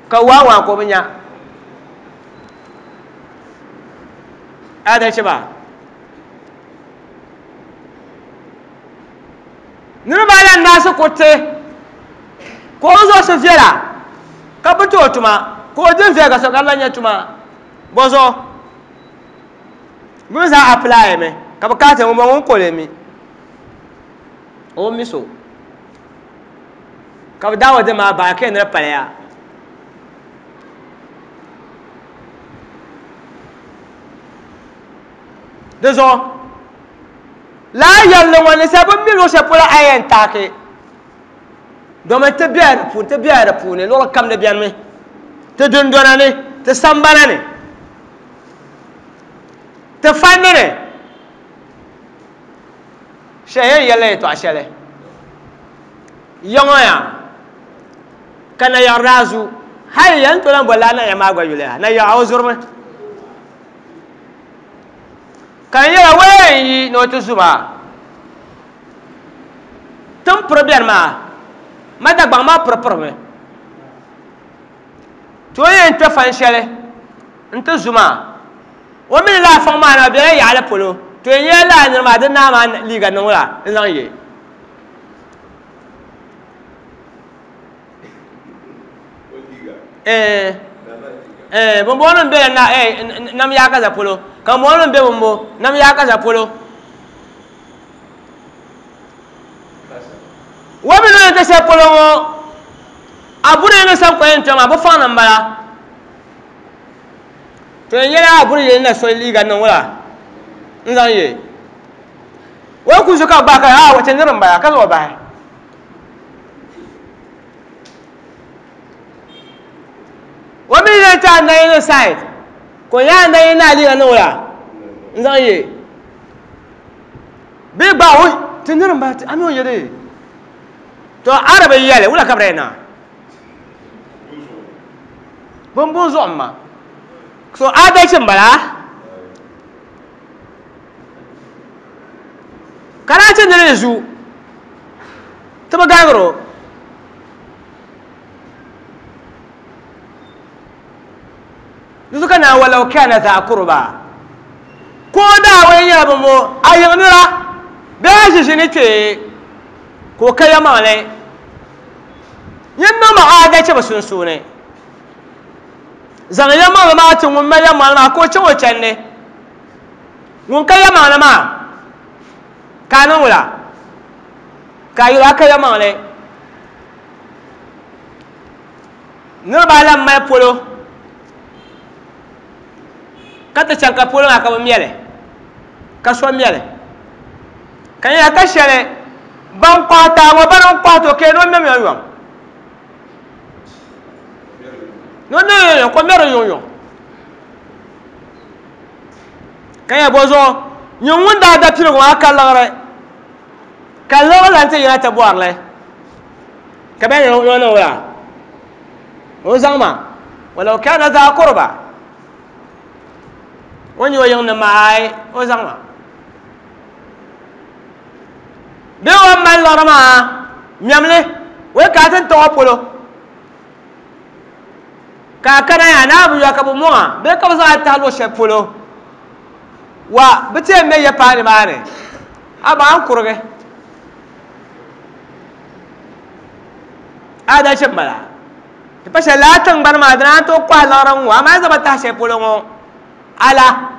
ka waa waa ka o bi nya adalchi maa niriba ayi n naasi kuriti ka o resource viɛla ka bi ti o tuma ka o din viɛla ka so ka di lan nyɛ tuma bɔzuɣu bɛ mi zaa apply mi ka bi kaati ŋun bɔŋɔ ŋun koli mi o mi so ka bi daawa di maa bahi ka yɛn ni di paliya di zuɣu laa yɛlli ŋɔ ni sɛ bi mi luɣu shɛli polo a yɛn taaki domin ti bela di puuni ti bela di puuni luɣuli kam di biɛni mi ti dundona ni ti sambana ni ti fanni ni shɛli yɛn yɛlila yɛltɔɣa shɛli ya ŋɔ yaa ka nayaɣari daa zu hali yɛn to lan boli laa nayaɣa maa gba yuli yaa nayaɣa o zurimi ka n yɛla waya n yi ni o ti zu maa tin piri biɛni maa ma Dagbaŋ maa piri pirimi ti o yɛn kpɛ fan shɛli n ti zu maa o mini laa fɔŋ maa na bɛla yaɣali polo to yɛn nyɛla laa niri maa di naa maa liiga niŋ la n zaŋ ye eh eh bɔnbɔŋɔ nim bɛla na eh nam yaakaza polo ka bɔnbɔŋɔ nim bɛ bɔnbɔ nam yaakaza polo o mi ni ti shɛli polo ŋɔ a buri ni san kɔyɛn kpɛ maa bi faŋ ni n bala to yɛn nyɛla a buri yɛn na so liiga niŋ wula n zaŋ ye o ku zu ka gbahi ka a ti niri n bala ka zaŋ o bahi o mi yɛn ti a nayi ni side ka o nyɛ a nayi ni a liiga niŋ wula n zaŋ ye bee gba o ti niri n bala a mi o yɛ de to arabi yɛli wula ka bi yɛn na bin zuɣu ma so adalchi n bala ka daa ti niri zu ti bi gaagiri o di zuɣu ka naa walau kana za kurba ko daa wai nyɛla bɔnbɔ a yiŋ nira bee a ʒi ʒini kpee ka o ka yɛmaŋli yin niŋma adalchi bi sunsuuni zaŋ yɛmaŋli maa ti ŋun mali yɛmaŋli maa ka o chaŋ o chandi ŋun ka yɛmaŋli maa ka a niŋ wula ka a yuli a ka yɛmaŋli niriba ayi lan mali polo ka ti chaŋ ka polo maa ka bi mɛli ka so mɛli ka nyɛla ka shɛli ban kɔhi taa ŋɔ bana n kɔhi to ka ni o mɛmi yɔm ni o mɛmi yɔm ka o mɛri yɔm yɔm ka nyɛ bɔ zuɣu nyin ŋun daa da piligu maa ka liɣiri ka liɣiri lan ti yina ti bɔrili ka bɛ ni o niŋ wula o zaŋ ma walau kana za kurba o nyɛ o yiŋ nim maa ai o zaŋ ma bee o mali liɣiri maa mɛmli o yi ka ti tɔɣɔ polo ka a kana yaa naa bi yɔ ka bi mɔŋa bee ka bi zaŋ a tahi luɣu shɛli polo wa bi ti yɛn mɛ ya paai nimaani a ba an kurigi adalchi n bala ti pa shɛli laa tingbani maa dina an tooi kɔhi liɣiri n ŋɔ amaa zaŋ ba tahi shɛli polo ŋɔ Ala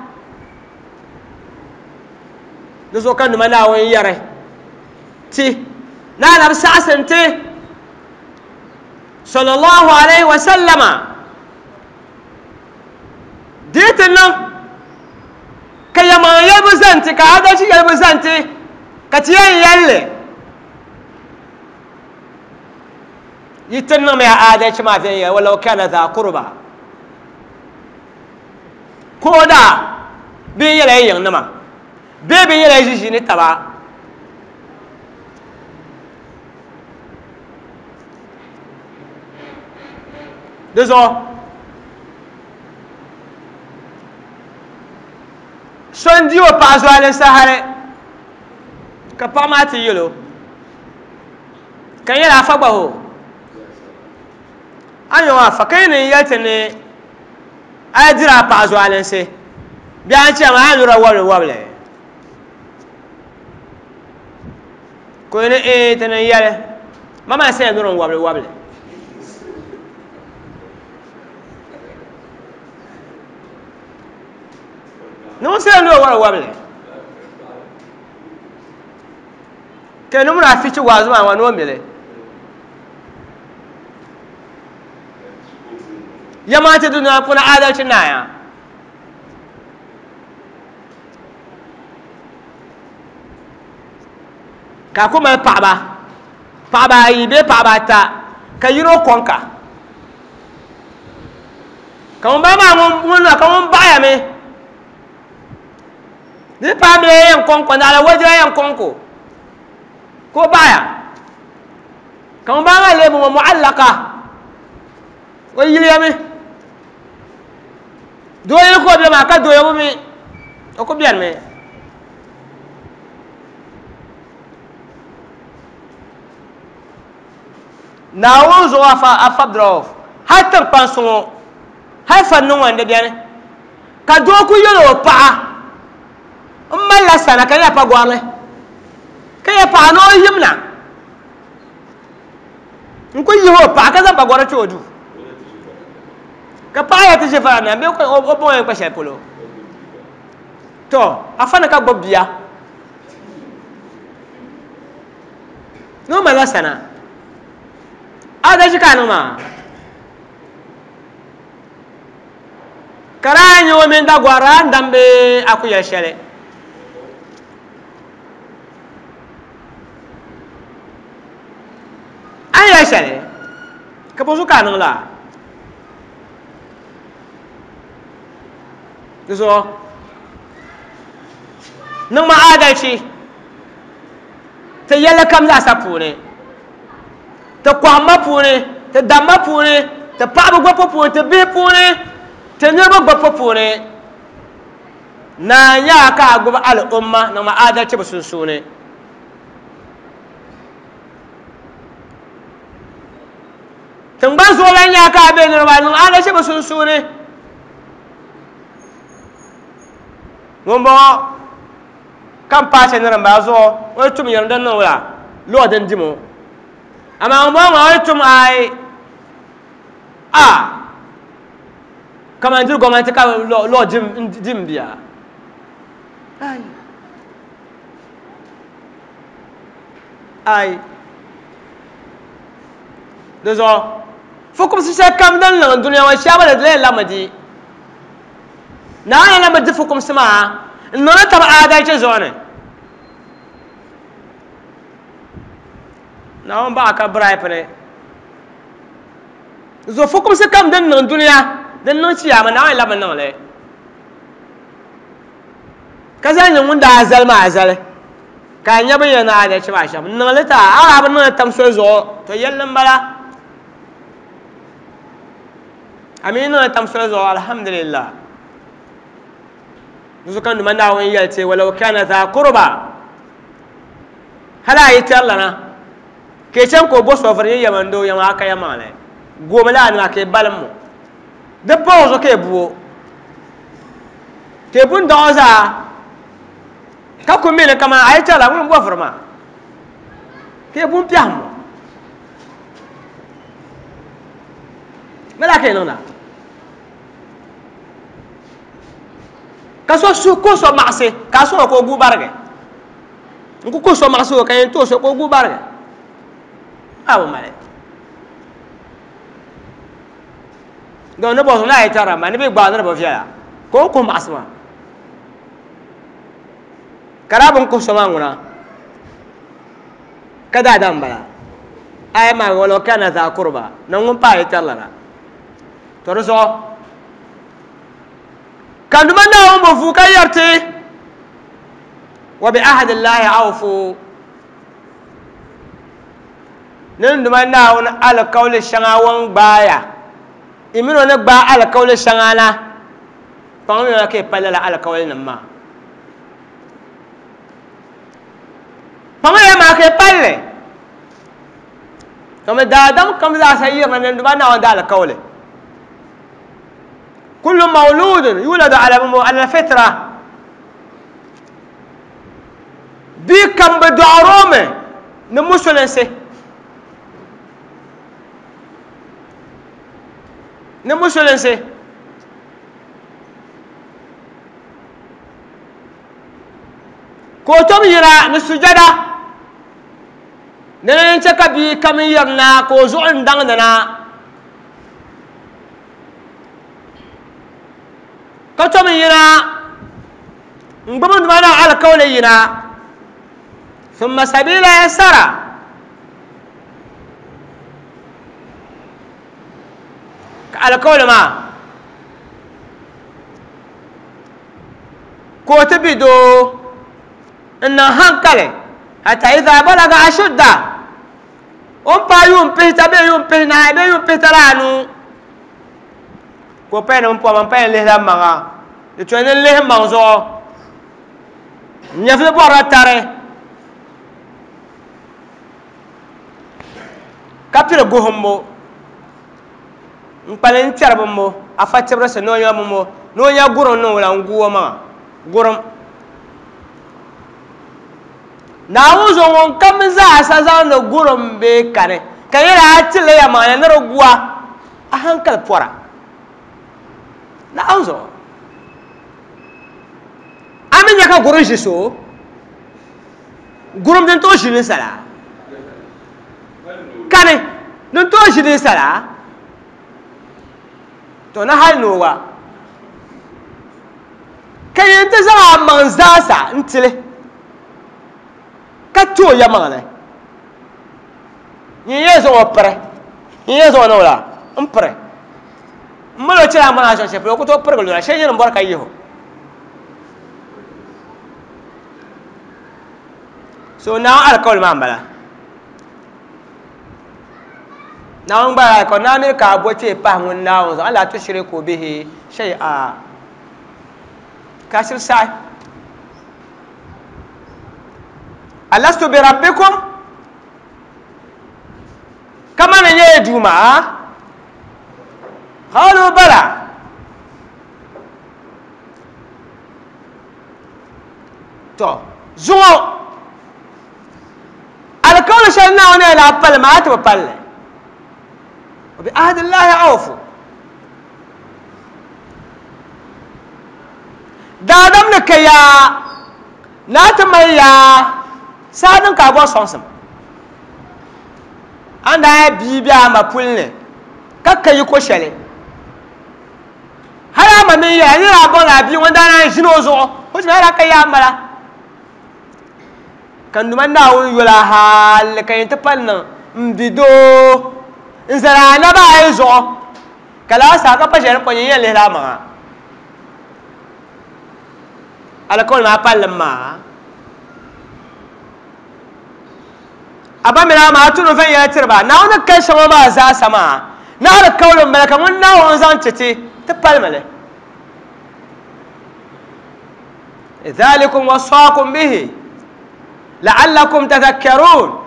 di zuɣu ka nima Naawuni yɛri ti ni anabi saɣasi n-ti sallallahu alayhi wa sallama di ti niŋ ka yɛlimaŋ yɛlibu zani ti ka adalci yɛlibu zani ti ka ti yɛn yɛlli yi ti niŋmiya adalci maa viɛnyɛla walau kana dha qurba ko da bee nyɛla yi yiŋnima bee bɛ nyɛla yi ʒiʒiini taba di zuɣu so n di o paɣa zualinsi hali ka paɣa maa ti yɛlo ka nyɛla afa gba ho a nyɛ afa ka yi ni yɛli ti ni a yi diri a paɣa zualinsi bee a ni chɛ maa a ni lura wabili wabili ka o ni ee ti ni yɛli ma maa saya nuri n wabili wabili ni ŋun saya nuri wabili wabili ka ni muna afichi waazu maa ŋɔ ni o mili yɛma ti dunia puuni adalci naaya ka ku mali paɣaba paɣaba ayi bee paɣaba ata ka yino kɔŋka ka ŋun bala maa ŋun ka ŋun baɣaya mi di paai mila yɛn kɔŋko naɣila wajira yɛn kɔŋko ka o baɣaya ka ŋun bala maa lee bɔŋɔ mu'allaka o yiliya mi doo yili ka o bɛ maa ka doo mi o ku bɛni mi Naawuni zuɣu afa afa Abdurauf hali tiŋkpansi ŋɔ hali fa niŋ ŋɔ di bɛni ka doo ku yɛli o paɣa n malila sana ka nyɛla pagɔrili ka yɛ paɣa ni o yimna n ku yihi o paɣa ka zaŋ pagɔri kpɛ o duu ka paɣa yɛ ti ʒi fara na bee o bɔŋɔ yɛn kpa shɛli polo to afa ni ka gbubi bia ni o malila sana adalci ka a niŋ maa ka daa nyɛ o mini dagɔra n dambi a ku yɛli shɛli a ni yɛli shɛli ka bɔ zuɣu ka a niŋ laa di zuɣu niŋ ma adalci ti yɛlli kam zaasa puuni ti kɔhimma puuni ti damma puuni ti paɣaba gbɔpɔ puuni ti bihi puuni ti niriba gbɔpɔ puuni naa nyaa ka a gbubi al'umma niŋ ma adalci bi sunsuuni tingbani zuɣulan nyaa ka a be niriba niŋ adalci bi sunsuuni ŋun bɔŋɔ ka n paai shɛli ni din bala zuɣu o yi tum yɛlim din niŋ la lɔɔ din dimo amaa ŋun bɔŋɔ maa o yi tum ai a kaman diri gɔmnanti ka lɔɔ dim bia ai ai di zuɣu fukumsi shɛli kam din niŋ dunia ŋɔ shɛba di lee lami di Naawuni lami di fukumsi maa n niŋdi taba adalci zuɣu ni Naawuni baɣa ka bribe ni zuɣu fukumsi kam din niŋ dunia din niŋ chiyaama Naawuni lami niŋli ka zaŋ nyɛ ŋun daa zali maa zali ka a nya bin yɛn adalci maa shɛm n niŋli ta a daa bi niŋli tam soli zuɣu to yɛlli n bala a mi niŋli tam soli zuɣu alhamdulillah zuɣu ka nima Naawuni yɛli ti walau kana dha qurba hali a yi tɛri lana ka i chaŋ ka o bo sɔviri nyɛ yɛman doo yɛma aka yɛmaŋli goomi laa nima ka i balim mo di pa o zuɣu ka i bu o ka i bu n daɣu zaa ka ku mi ni kaman a yi tɛri la ŋuni n bo vuri maa ka i bu n piɛhim mo mi laa ka i niŋda Ka so su ko so maɣasi ka so ko gu barge nku ko so maɣasi ka yin to so ko gu barge awo male do ne bo na itara ma ne bi gba ne bo fiya ko ko maɣasi ma karabun ko so ma nguna kada dan bala ay ma wala kana za kurba nan ngun pa itara la to so kan duma na mo fu ka yarti wa bi ahadi llahi awfu nin duma na won alqawli shanga won gbaya imino ne gba alqawli shanga na pang mi ke palala alqawli nan ma pang ya ma ke palle to me dadam kam za sayir nan duma na won da alqawli كل مولود يولد على على الفطرة بي كم بدعرومه نمسلنسي نمسلنسي كوتوم يرا نسجدا ننشك بي كم يرنا كوزون دعنا كتم ينا نقوم معنا على قول ينا ثم سبيل يسرا على قول ما كتبدو إن هنكله حتى إذا بلغ أشده أم بايوم بيتا بيوم بينا بيوم بيترانو ko pɛn n pɔm n pɛn lihi la maŋa di tɔi ni lihi maŋ zuɣu nyɛvili bɔrila tari ka piri guhumbo n kpali n kpɛri bimbo afa tibirisi ni o nya bimbo ni o nya gurim niŋ wula n gu o maŋa gurim Naawuni zuɣu ŋun kam zaasa zaŋdi gurim bee kani ka nyɛla a tili ya maŋa ni di gua a hankali pɔra Naawuni zuɣu a mi nya ka gurim ʒi so gurim din tooi ʒi ninsala kani din tooi ʒi ninsala to na hali ni o gba ka yin ti zaŋ a maŋ zaasa n tili ka ti o ya maŋli nyin yɛn zaŋ o piri nyin yɛn zaŋ o niŋ wula n piri n mali o chɛla a mana shɛli shɛli polo o ku tooi pirigi lura shɛli nyɛla n bɔri ka yihi o so Naawuni alikauli maa n bala Naawuni gba alikauli naa mini ka a bo kpee pahi ŋun Naawuni zuɣu alla tushiriku bihi shay'a ka shiri saɣi alastu bi rabbikum kama ni nyɛ duuma قالوا بلى تو زو الكون شلنا هنا لا بل ما تبل وبعهد الله أوفوا دادم لك يا ناتميا سادن كابو سونسم عندها بيبيا ما بولني كاكا يكو شلي hali ma min ya ni la bon la bi wanda na jino zo ko ti ra ka ya mala kan duma na won yola hal ka yin ta panna mbido nzara na ba ai zo kala sa ka pa jere ko yin le la ma ala ko ma pal ma aba mi na ma tunu fɛn yɛrɛ tiriba Naawuni ka shɛŋa maa zaa sama na alikauli n bala ka ŋun Naawuni zaŋ ti ti ti palimi li ذلكم وصاكم به لعلكم تذكرون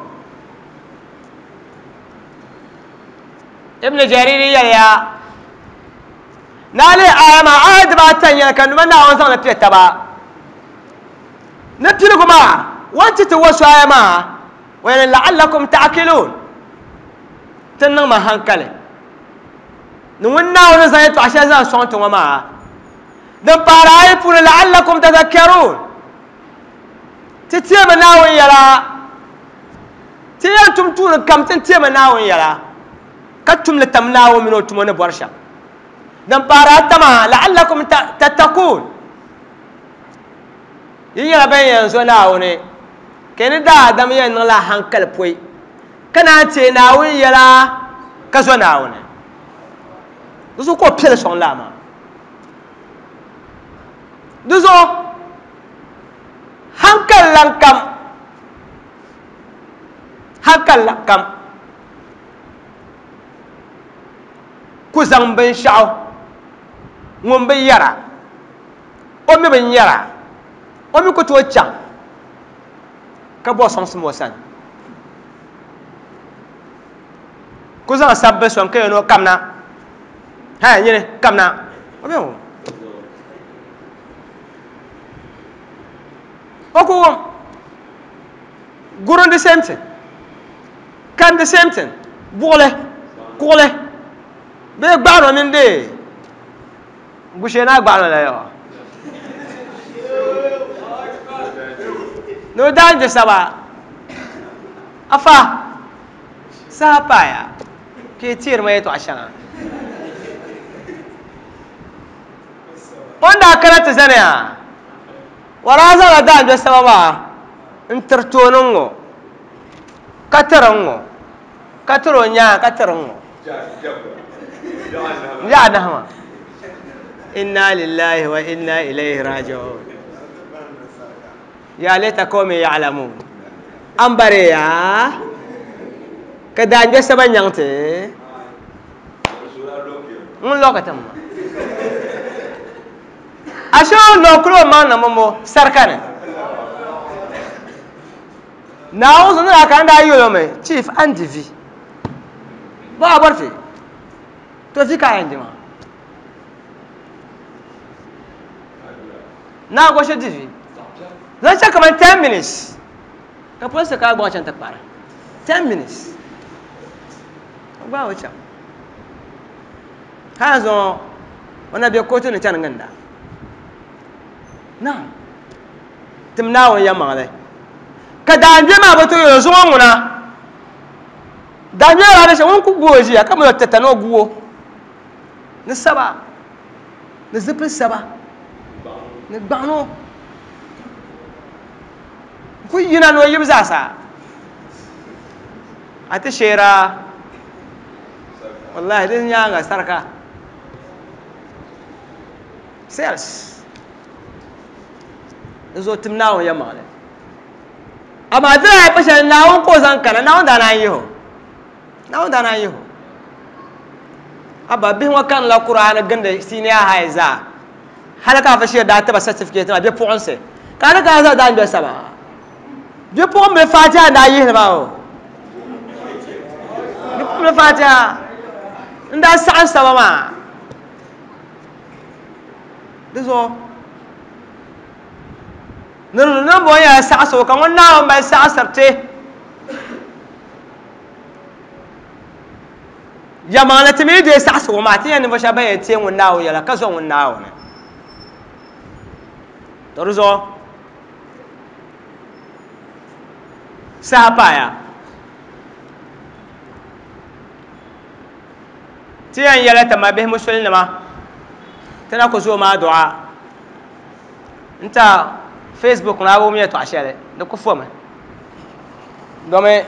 ابن جرير يا نالي آية ما عاد باتن يا كان من ناون زان بيتبا نبتلكم ما وانت توسوا آية ما وين لعلكم تعقلون تنما هنكله نون ناون زان تو عشان زان سونت وما Din pahiri ayi puuni la'allakum tadhakkarun. Ti teemi Naawuni yɛla. Ti yɛn tum tuuni kam ti teemi Naawuni yɛla. Ka tumli tam Naawuni mini o tumo ni bɔri shɛm. Din pahiri ata maa la'allakum tattaqun. Yi nyɛla ban yɛn zo Naawuni. Ka ni daadam yɛn niŋla hankali pɔi. Ka naan teei Naawuni yɛla ka zo Naawuni. Di zuɣu ka o piɛli sɔŋ laa maa. Di zuɣu hankali lan kam hankali lan kam ku zaŋ binshaɣu ŋun bi yɛra o mi bi nyɛra o mi ku tooi chaŋ ka bɔ sɔŋsim o sani ku zaŋ sabbu sɔŋ ka yɛn o kamna ha nyini kamna o mi wum o ku wum gurin the same thing kan the same thing buɣuli kuɣuli bee gbaɣano mini dee gushee naa gbaɣano la yawa ni o daan je saba afa saha paaya ka yi teeri ma yɛltɔɣa shɛŋa o ni daa kana ti zaniya o daa zaŋla daanjo saba maa n tiri tooni n-ŋɔ ka tiri n-ŋɔ ka tiri o nyaanga ka tiri n-ŋɔ n-yaɣa anahi maa inna lillahi wa inna ilayhi raji'un ya laita qawmi ya'lamun an bari ya ka daanjo saba nyaŋ ti ŋun lɔka ti ma ashe o lɔkiri o maŋ niŋ mo sarika ni Naawuni zuɣu ni daa kana daa yɛl o mi chief an di vi bɔ a bɔri ti to vi ka a yɛn di maa naa goshi di vi zaŋ chɛ kaman ten minutes ka polisi ka a gbaŋ chaŋ ti kpari ten minutes o gbaai o chaŋ hali zuŋɔ o na be kootu ni chani ginda naam tim Naawuni yɛlimaŋli ka daanbɛ maa bi tooi yɛl o zuŋɔ ŋuna daanbɛ maa daa shɛm ŋun ku gu o ʒiya ka mali o tita ni o gu o ni saba ni zipili saba ni gbaɣano ku yina ni o yibu zaasa a ti sheera wallahi din nyaanga sarika sales di zuɣu tim Naawuni yɛlimaŋli amaa di daa pa shɛli Naawuni ka o zaŋ kana Naawuni daa naan yihi o Naawuni daa naan yihi o abba bihi ŋɔ kanila Qur'an gindi senior high zaa hali ka afa shiri daa tiba certificate maa bipuɣinsi ka a ni kana zaa daangbɛ saba bipuɣimbila Fatiha n daa yihili maa o bipuɣimbila Fatiha n daa saɣim saba maa di zuɣu ni bɔŋɔ nyɛla saɣasigu ka ŋun Naawuni mali saɣasiri ti yɛlimaŋli ti mi deei saɣasigu maa ti nyɛ ninvuɣu shɛba ban yɛn teei ŋun Naawuni yɛla ka zo ŋun Naawuni to di zuɣu saha paaya ti yɛn yɛla ti mabihi musulinima ti na ku zooi maa du'a n ta Facebook ni a wum yɛltɔɣa shɛli di ku fomi domi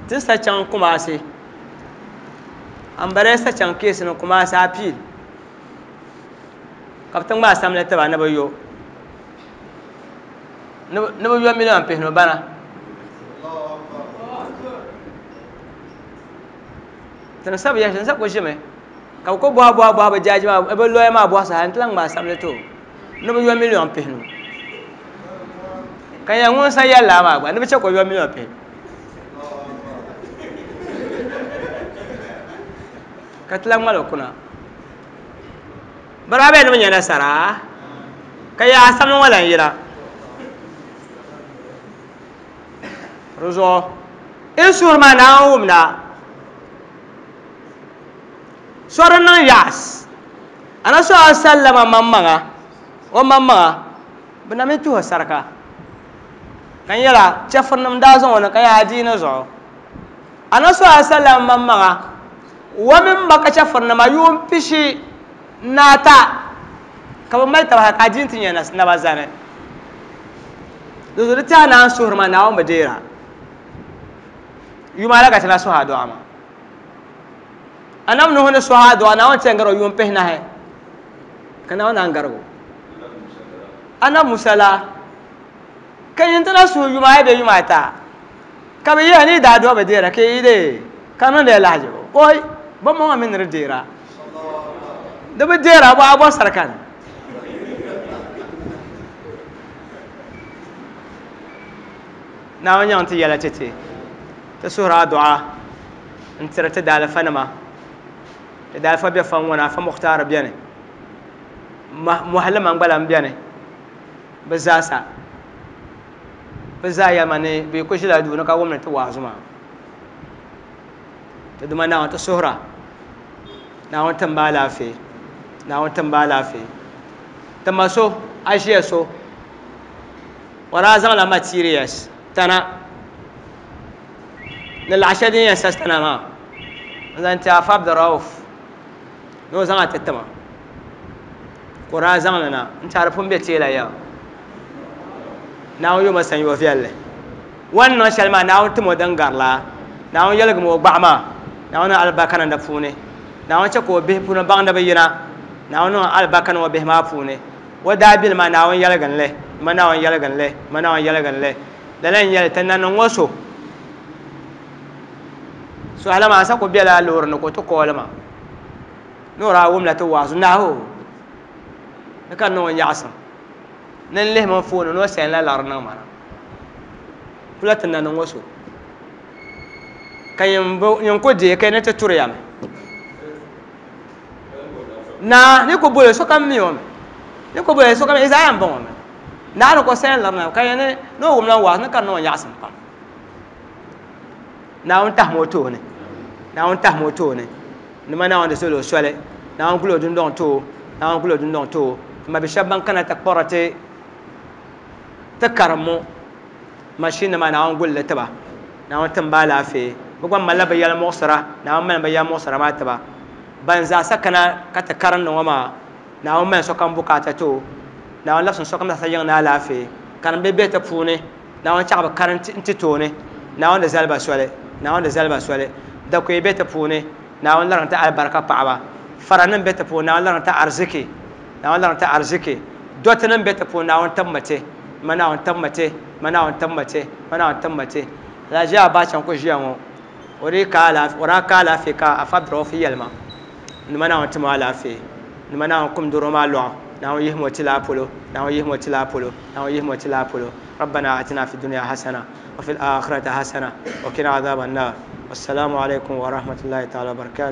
ti sa chaŋ Kumasi an bala sa chaŋ keesi ni Kumasi appeal ka bi ti ŋmaai samli tiba ni bi yo ni bi yo million pihinu bana tini sabi yɛli tini sa ku ʒimi ka bi ku bɔhi bɔhi bɔhi bi jaaji maa bi lɔya maa bɔhi saha n ti lahi ŋmaai samli ti o ni bi yo million pihinu ka nyɛ ŋun sa yɛli laa maa gba ni bi chɛ ka o yo million pihinu ka ti lahi ŋmali o kuna bi daa bɛ ni bi nyɛ nasara ka yaa samli ŋɔ lan yina di zuɣu in suhuri maa Naawuni wumda so di niŋ yaas ana so a sallama maŋmaŋa O maŋmaŋa bɛ na mi tuhi sarika ka n yɛla chɛfurinim daa zaŋ o ni ka yaa adiini zuɣu anabi sallallahu alaihi wasallam maŋmaŋa wa mini maka chɛfurinima yuun pishi ni ata ka bɛ mali taba ka adiini ti nyɛ naba zani di zuɣu di tiɛha naan suhuri maa Naawuni bi deera yuma ala ka ti na suhi adu'a maa anabi Nuhu ni suhi adu'a Naawuni ti yɛn gari o yuun pihinahi ka Naawuni naan garigu anabi Musa la ka yin ti na suhi yuma ayi bee yuma ata ka bi yɛli ni daa adu'a bi deera ka yi dee ka niŋdi lahajibu oi bi maŋa mi ni di deera di bi deera bɔ a bɔ sarika ni Naawuni nyaŋ ti yɛla ti ti ti suhuri adu'a n tiri ti daalifa nima ti daalifa bɛ fan ŋɔ ni afa Mukhtar bɛni mɔhili man gba lan bɛni bɛ zaasa bɛ zaa yɛlima ni bɛ ku ʒila duu ni ka wumdi ti waazu maa ti duma Naawuni ti suhura Naawuni tim ba alaafee Naawuni tim ba alaafee ti ma so a ʒiya so o daa zaŋla materials tana ni laɣa shɛli din yɛn sa tana maa n zaŋ ti afa Abdurauf ni o zaŋ a ti tima ka o daa zaŋli na n tiɛha di pun bɛ teela ya Naawuni yoma sanyo viɛlli o ni niŋ shɛli maa Naawuni tim o din garila Naawuni yɛligimi o gbaɣa maa Naawuni niŋ alibarika niŋ di puuni Naawuni chɛ ka o bihi puuni baŋdi bi yina Naawuni niŋ alibarika niŋ o bihi maa puuni o daabili maa Naawuni yɛligini li ma Naawuni yɛligini li ma Naawuni yɛligini li lala n nyɛli ti nanim ŋɔ so suhila maa sa ku bɛla loori ni ka o ti kooli ma ni o daa wumla ti waazu nahu ni ka niŋ o nyaɣasim ni n lihi mi fooni ni o sɛnla lari niŋ ma na kula ti nanim ŋɔ so ka yin ku deei ka ni ti turiya mi naa ni ku boli sokam mi o mi ni ku boli sokam izaa yɛn bɔŋɔ mi naa ni ko sɛn lari na ka yɛn ni ni o wumla waazu ni ka niŋ o nyaɣasim pam Naawuni tahimi o tooni Naawuni tahimi o tooni nima Naawuni di soli o soli Naawuni guli o dundɔŋ too Naawuni guli o dundɔŋ too ti ma bi shɛba ban kana ti kpɔri ti ti karimmu mashin nima Naawuni guli li tiba Naawuni tim ba alaafee bi gba malila bi yɛli muɣusira Naawuni mali bi yɛli muɣusira maa tiba ban zaasa kana ka ti karindi ŋɔ maa Naawuni mali sokam bukaata too Naawuni labisi sokam zaasa yiŋ ni alaafee karim bi bɛ ti puuni Naawuni chaɣ bi karim n ti tooni Naawuni di zali ba soli Naawuni di zali ba soli dakoyi bɛ ti puuni Naawuni lariŋ ti alibarika paɣaba faranim bɛ ti puuni Naawuni lariŋ ti ariziki Naawuni lariŋ ti ariziki dɔtinim bɛ ti puuni Naawuni tibimi ti ma Naawuni tibimi ti ma Naawuni tibimi ti ma Naawuni tibimi ti Alhaji Abacha n ku ʒiya ŋɔ o dii ka alaafee o daa ka alaafee ka afa Abdurauf yɛlima nima Naawuni timi alaafee nima Naawuni kum doro maa lɔɣu Naawuni yihimi o ti laa polo Naawuni yihimi o ti laa polo Naawuni yihimi o ti laa polo ربنا آتنا في الدنيا حسنة وفي الآخرة حسنة وقنا عذاب النار والسلام عليكم ورحمة الله تعالى وبركاته.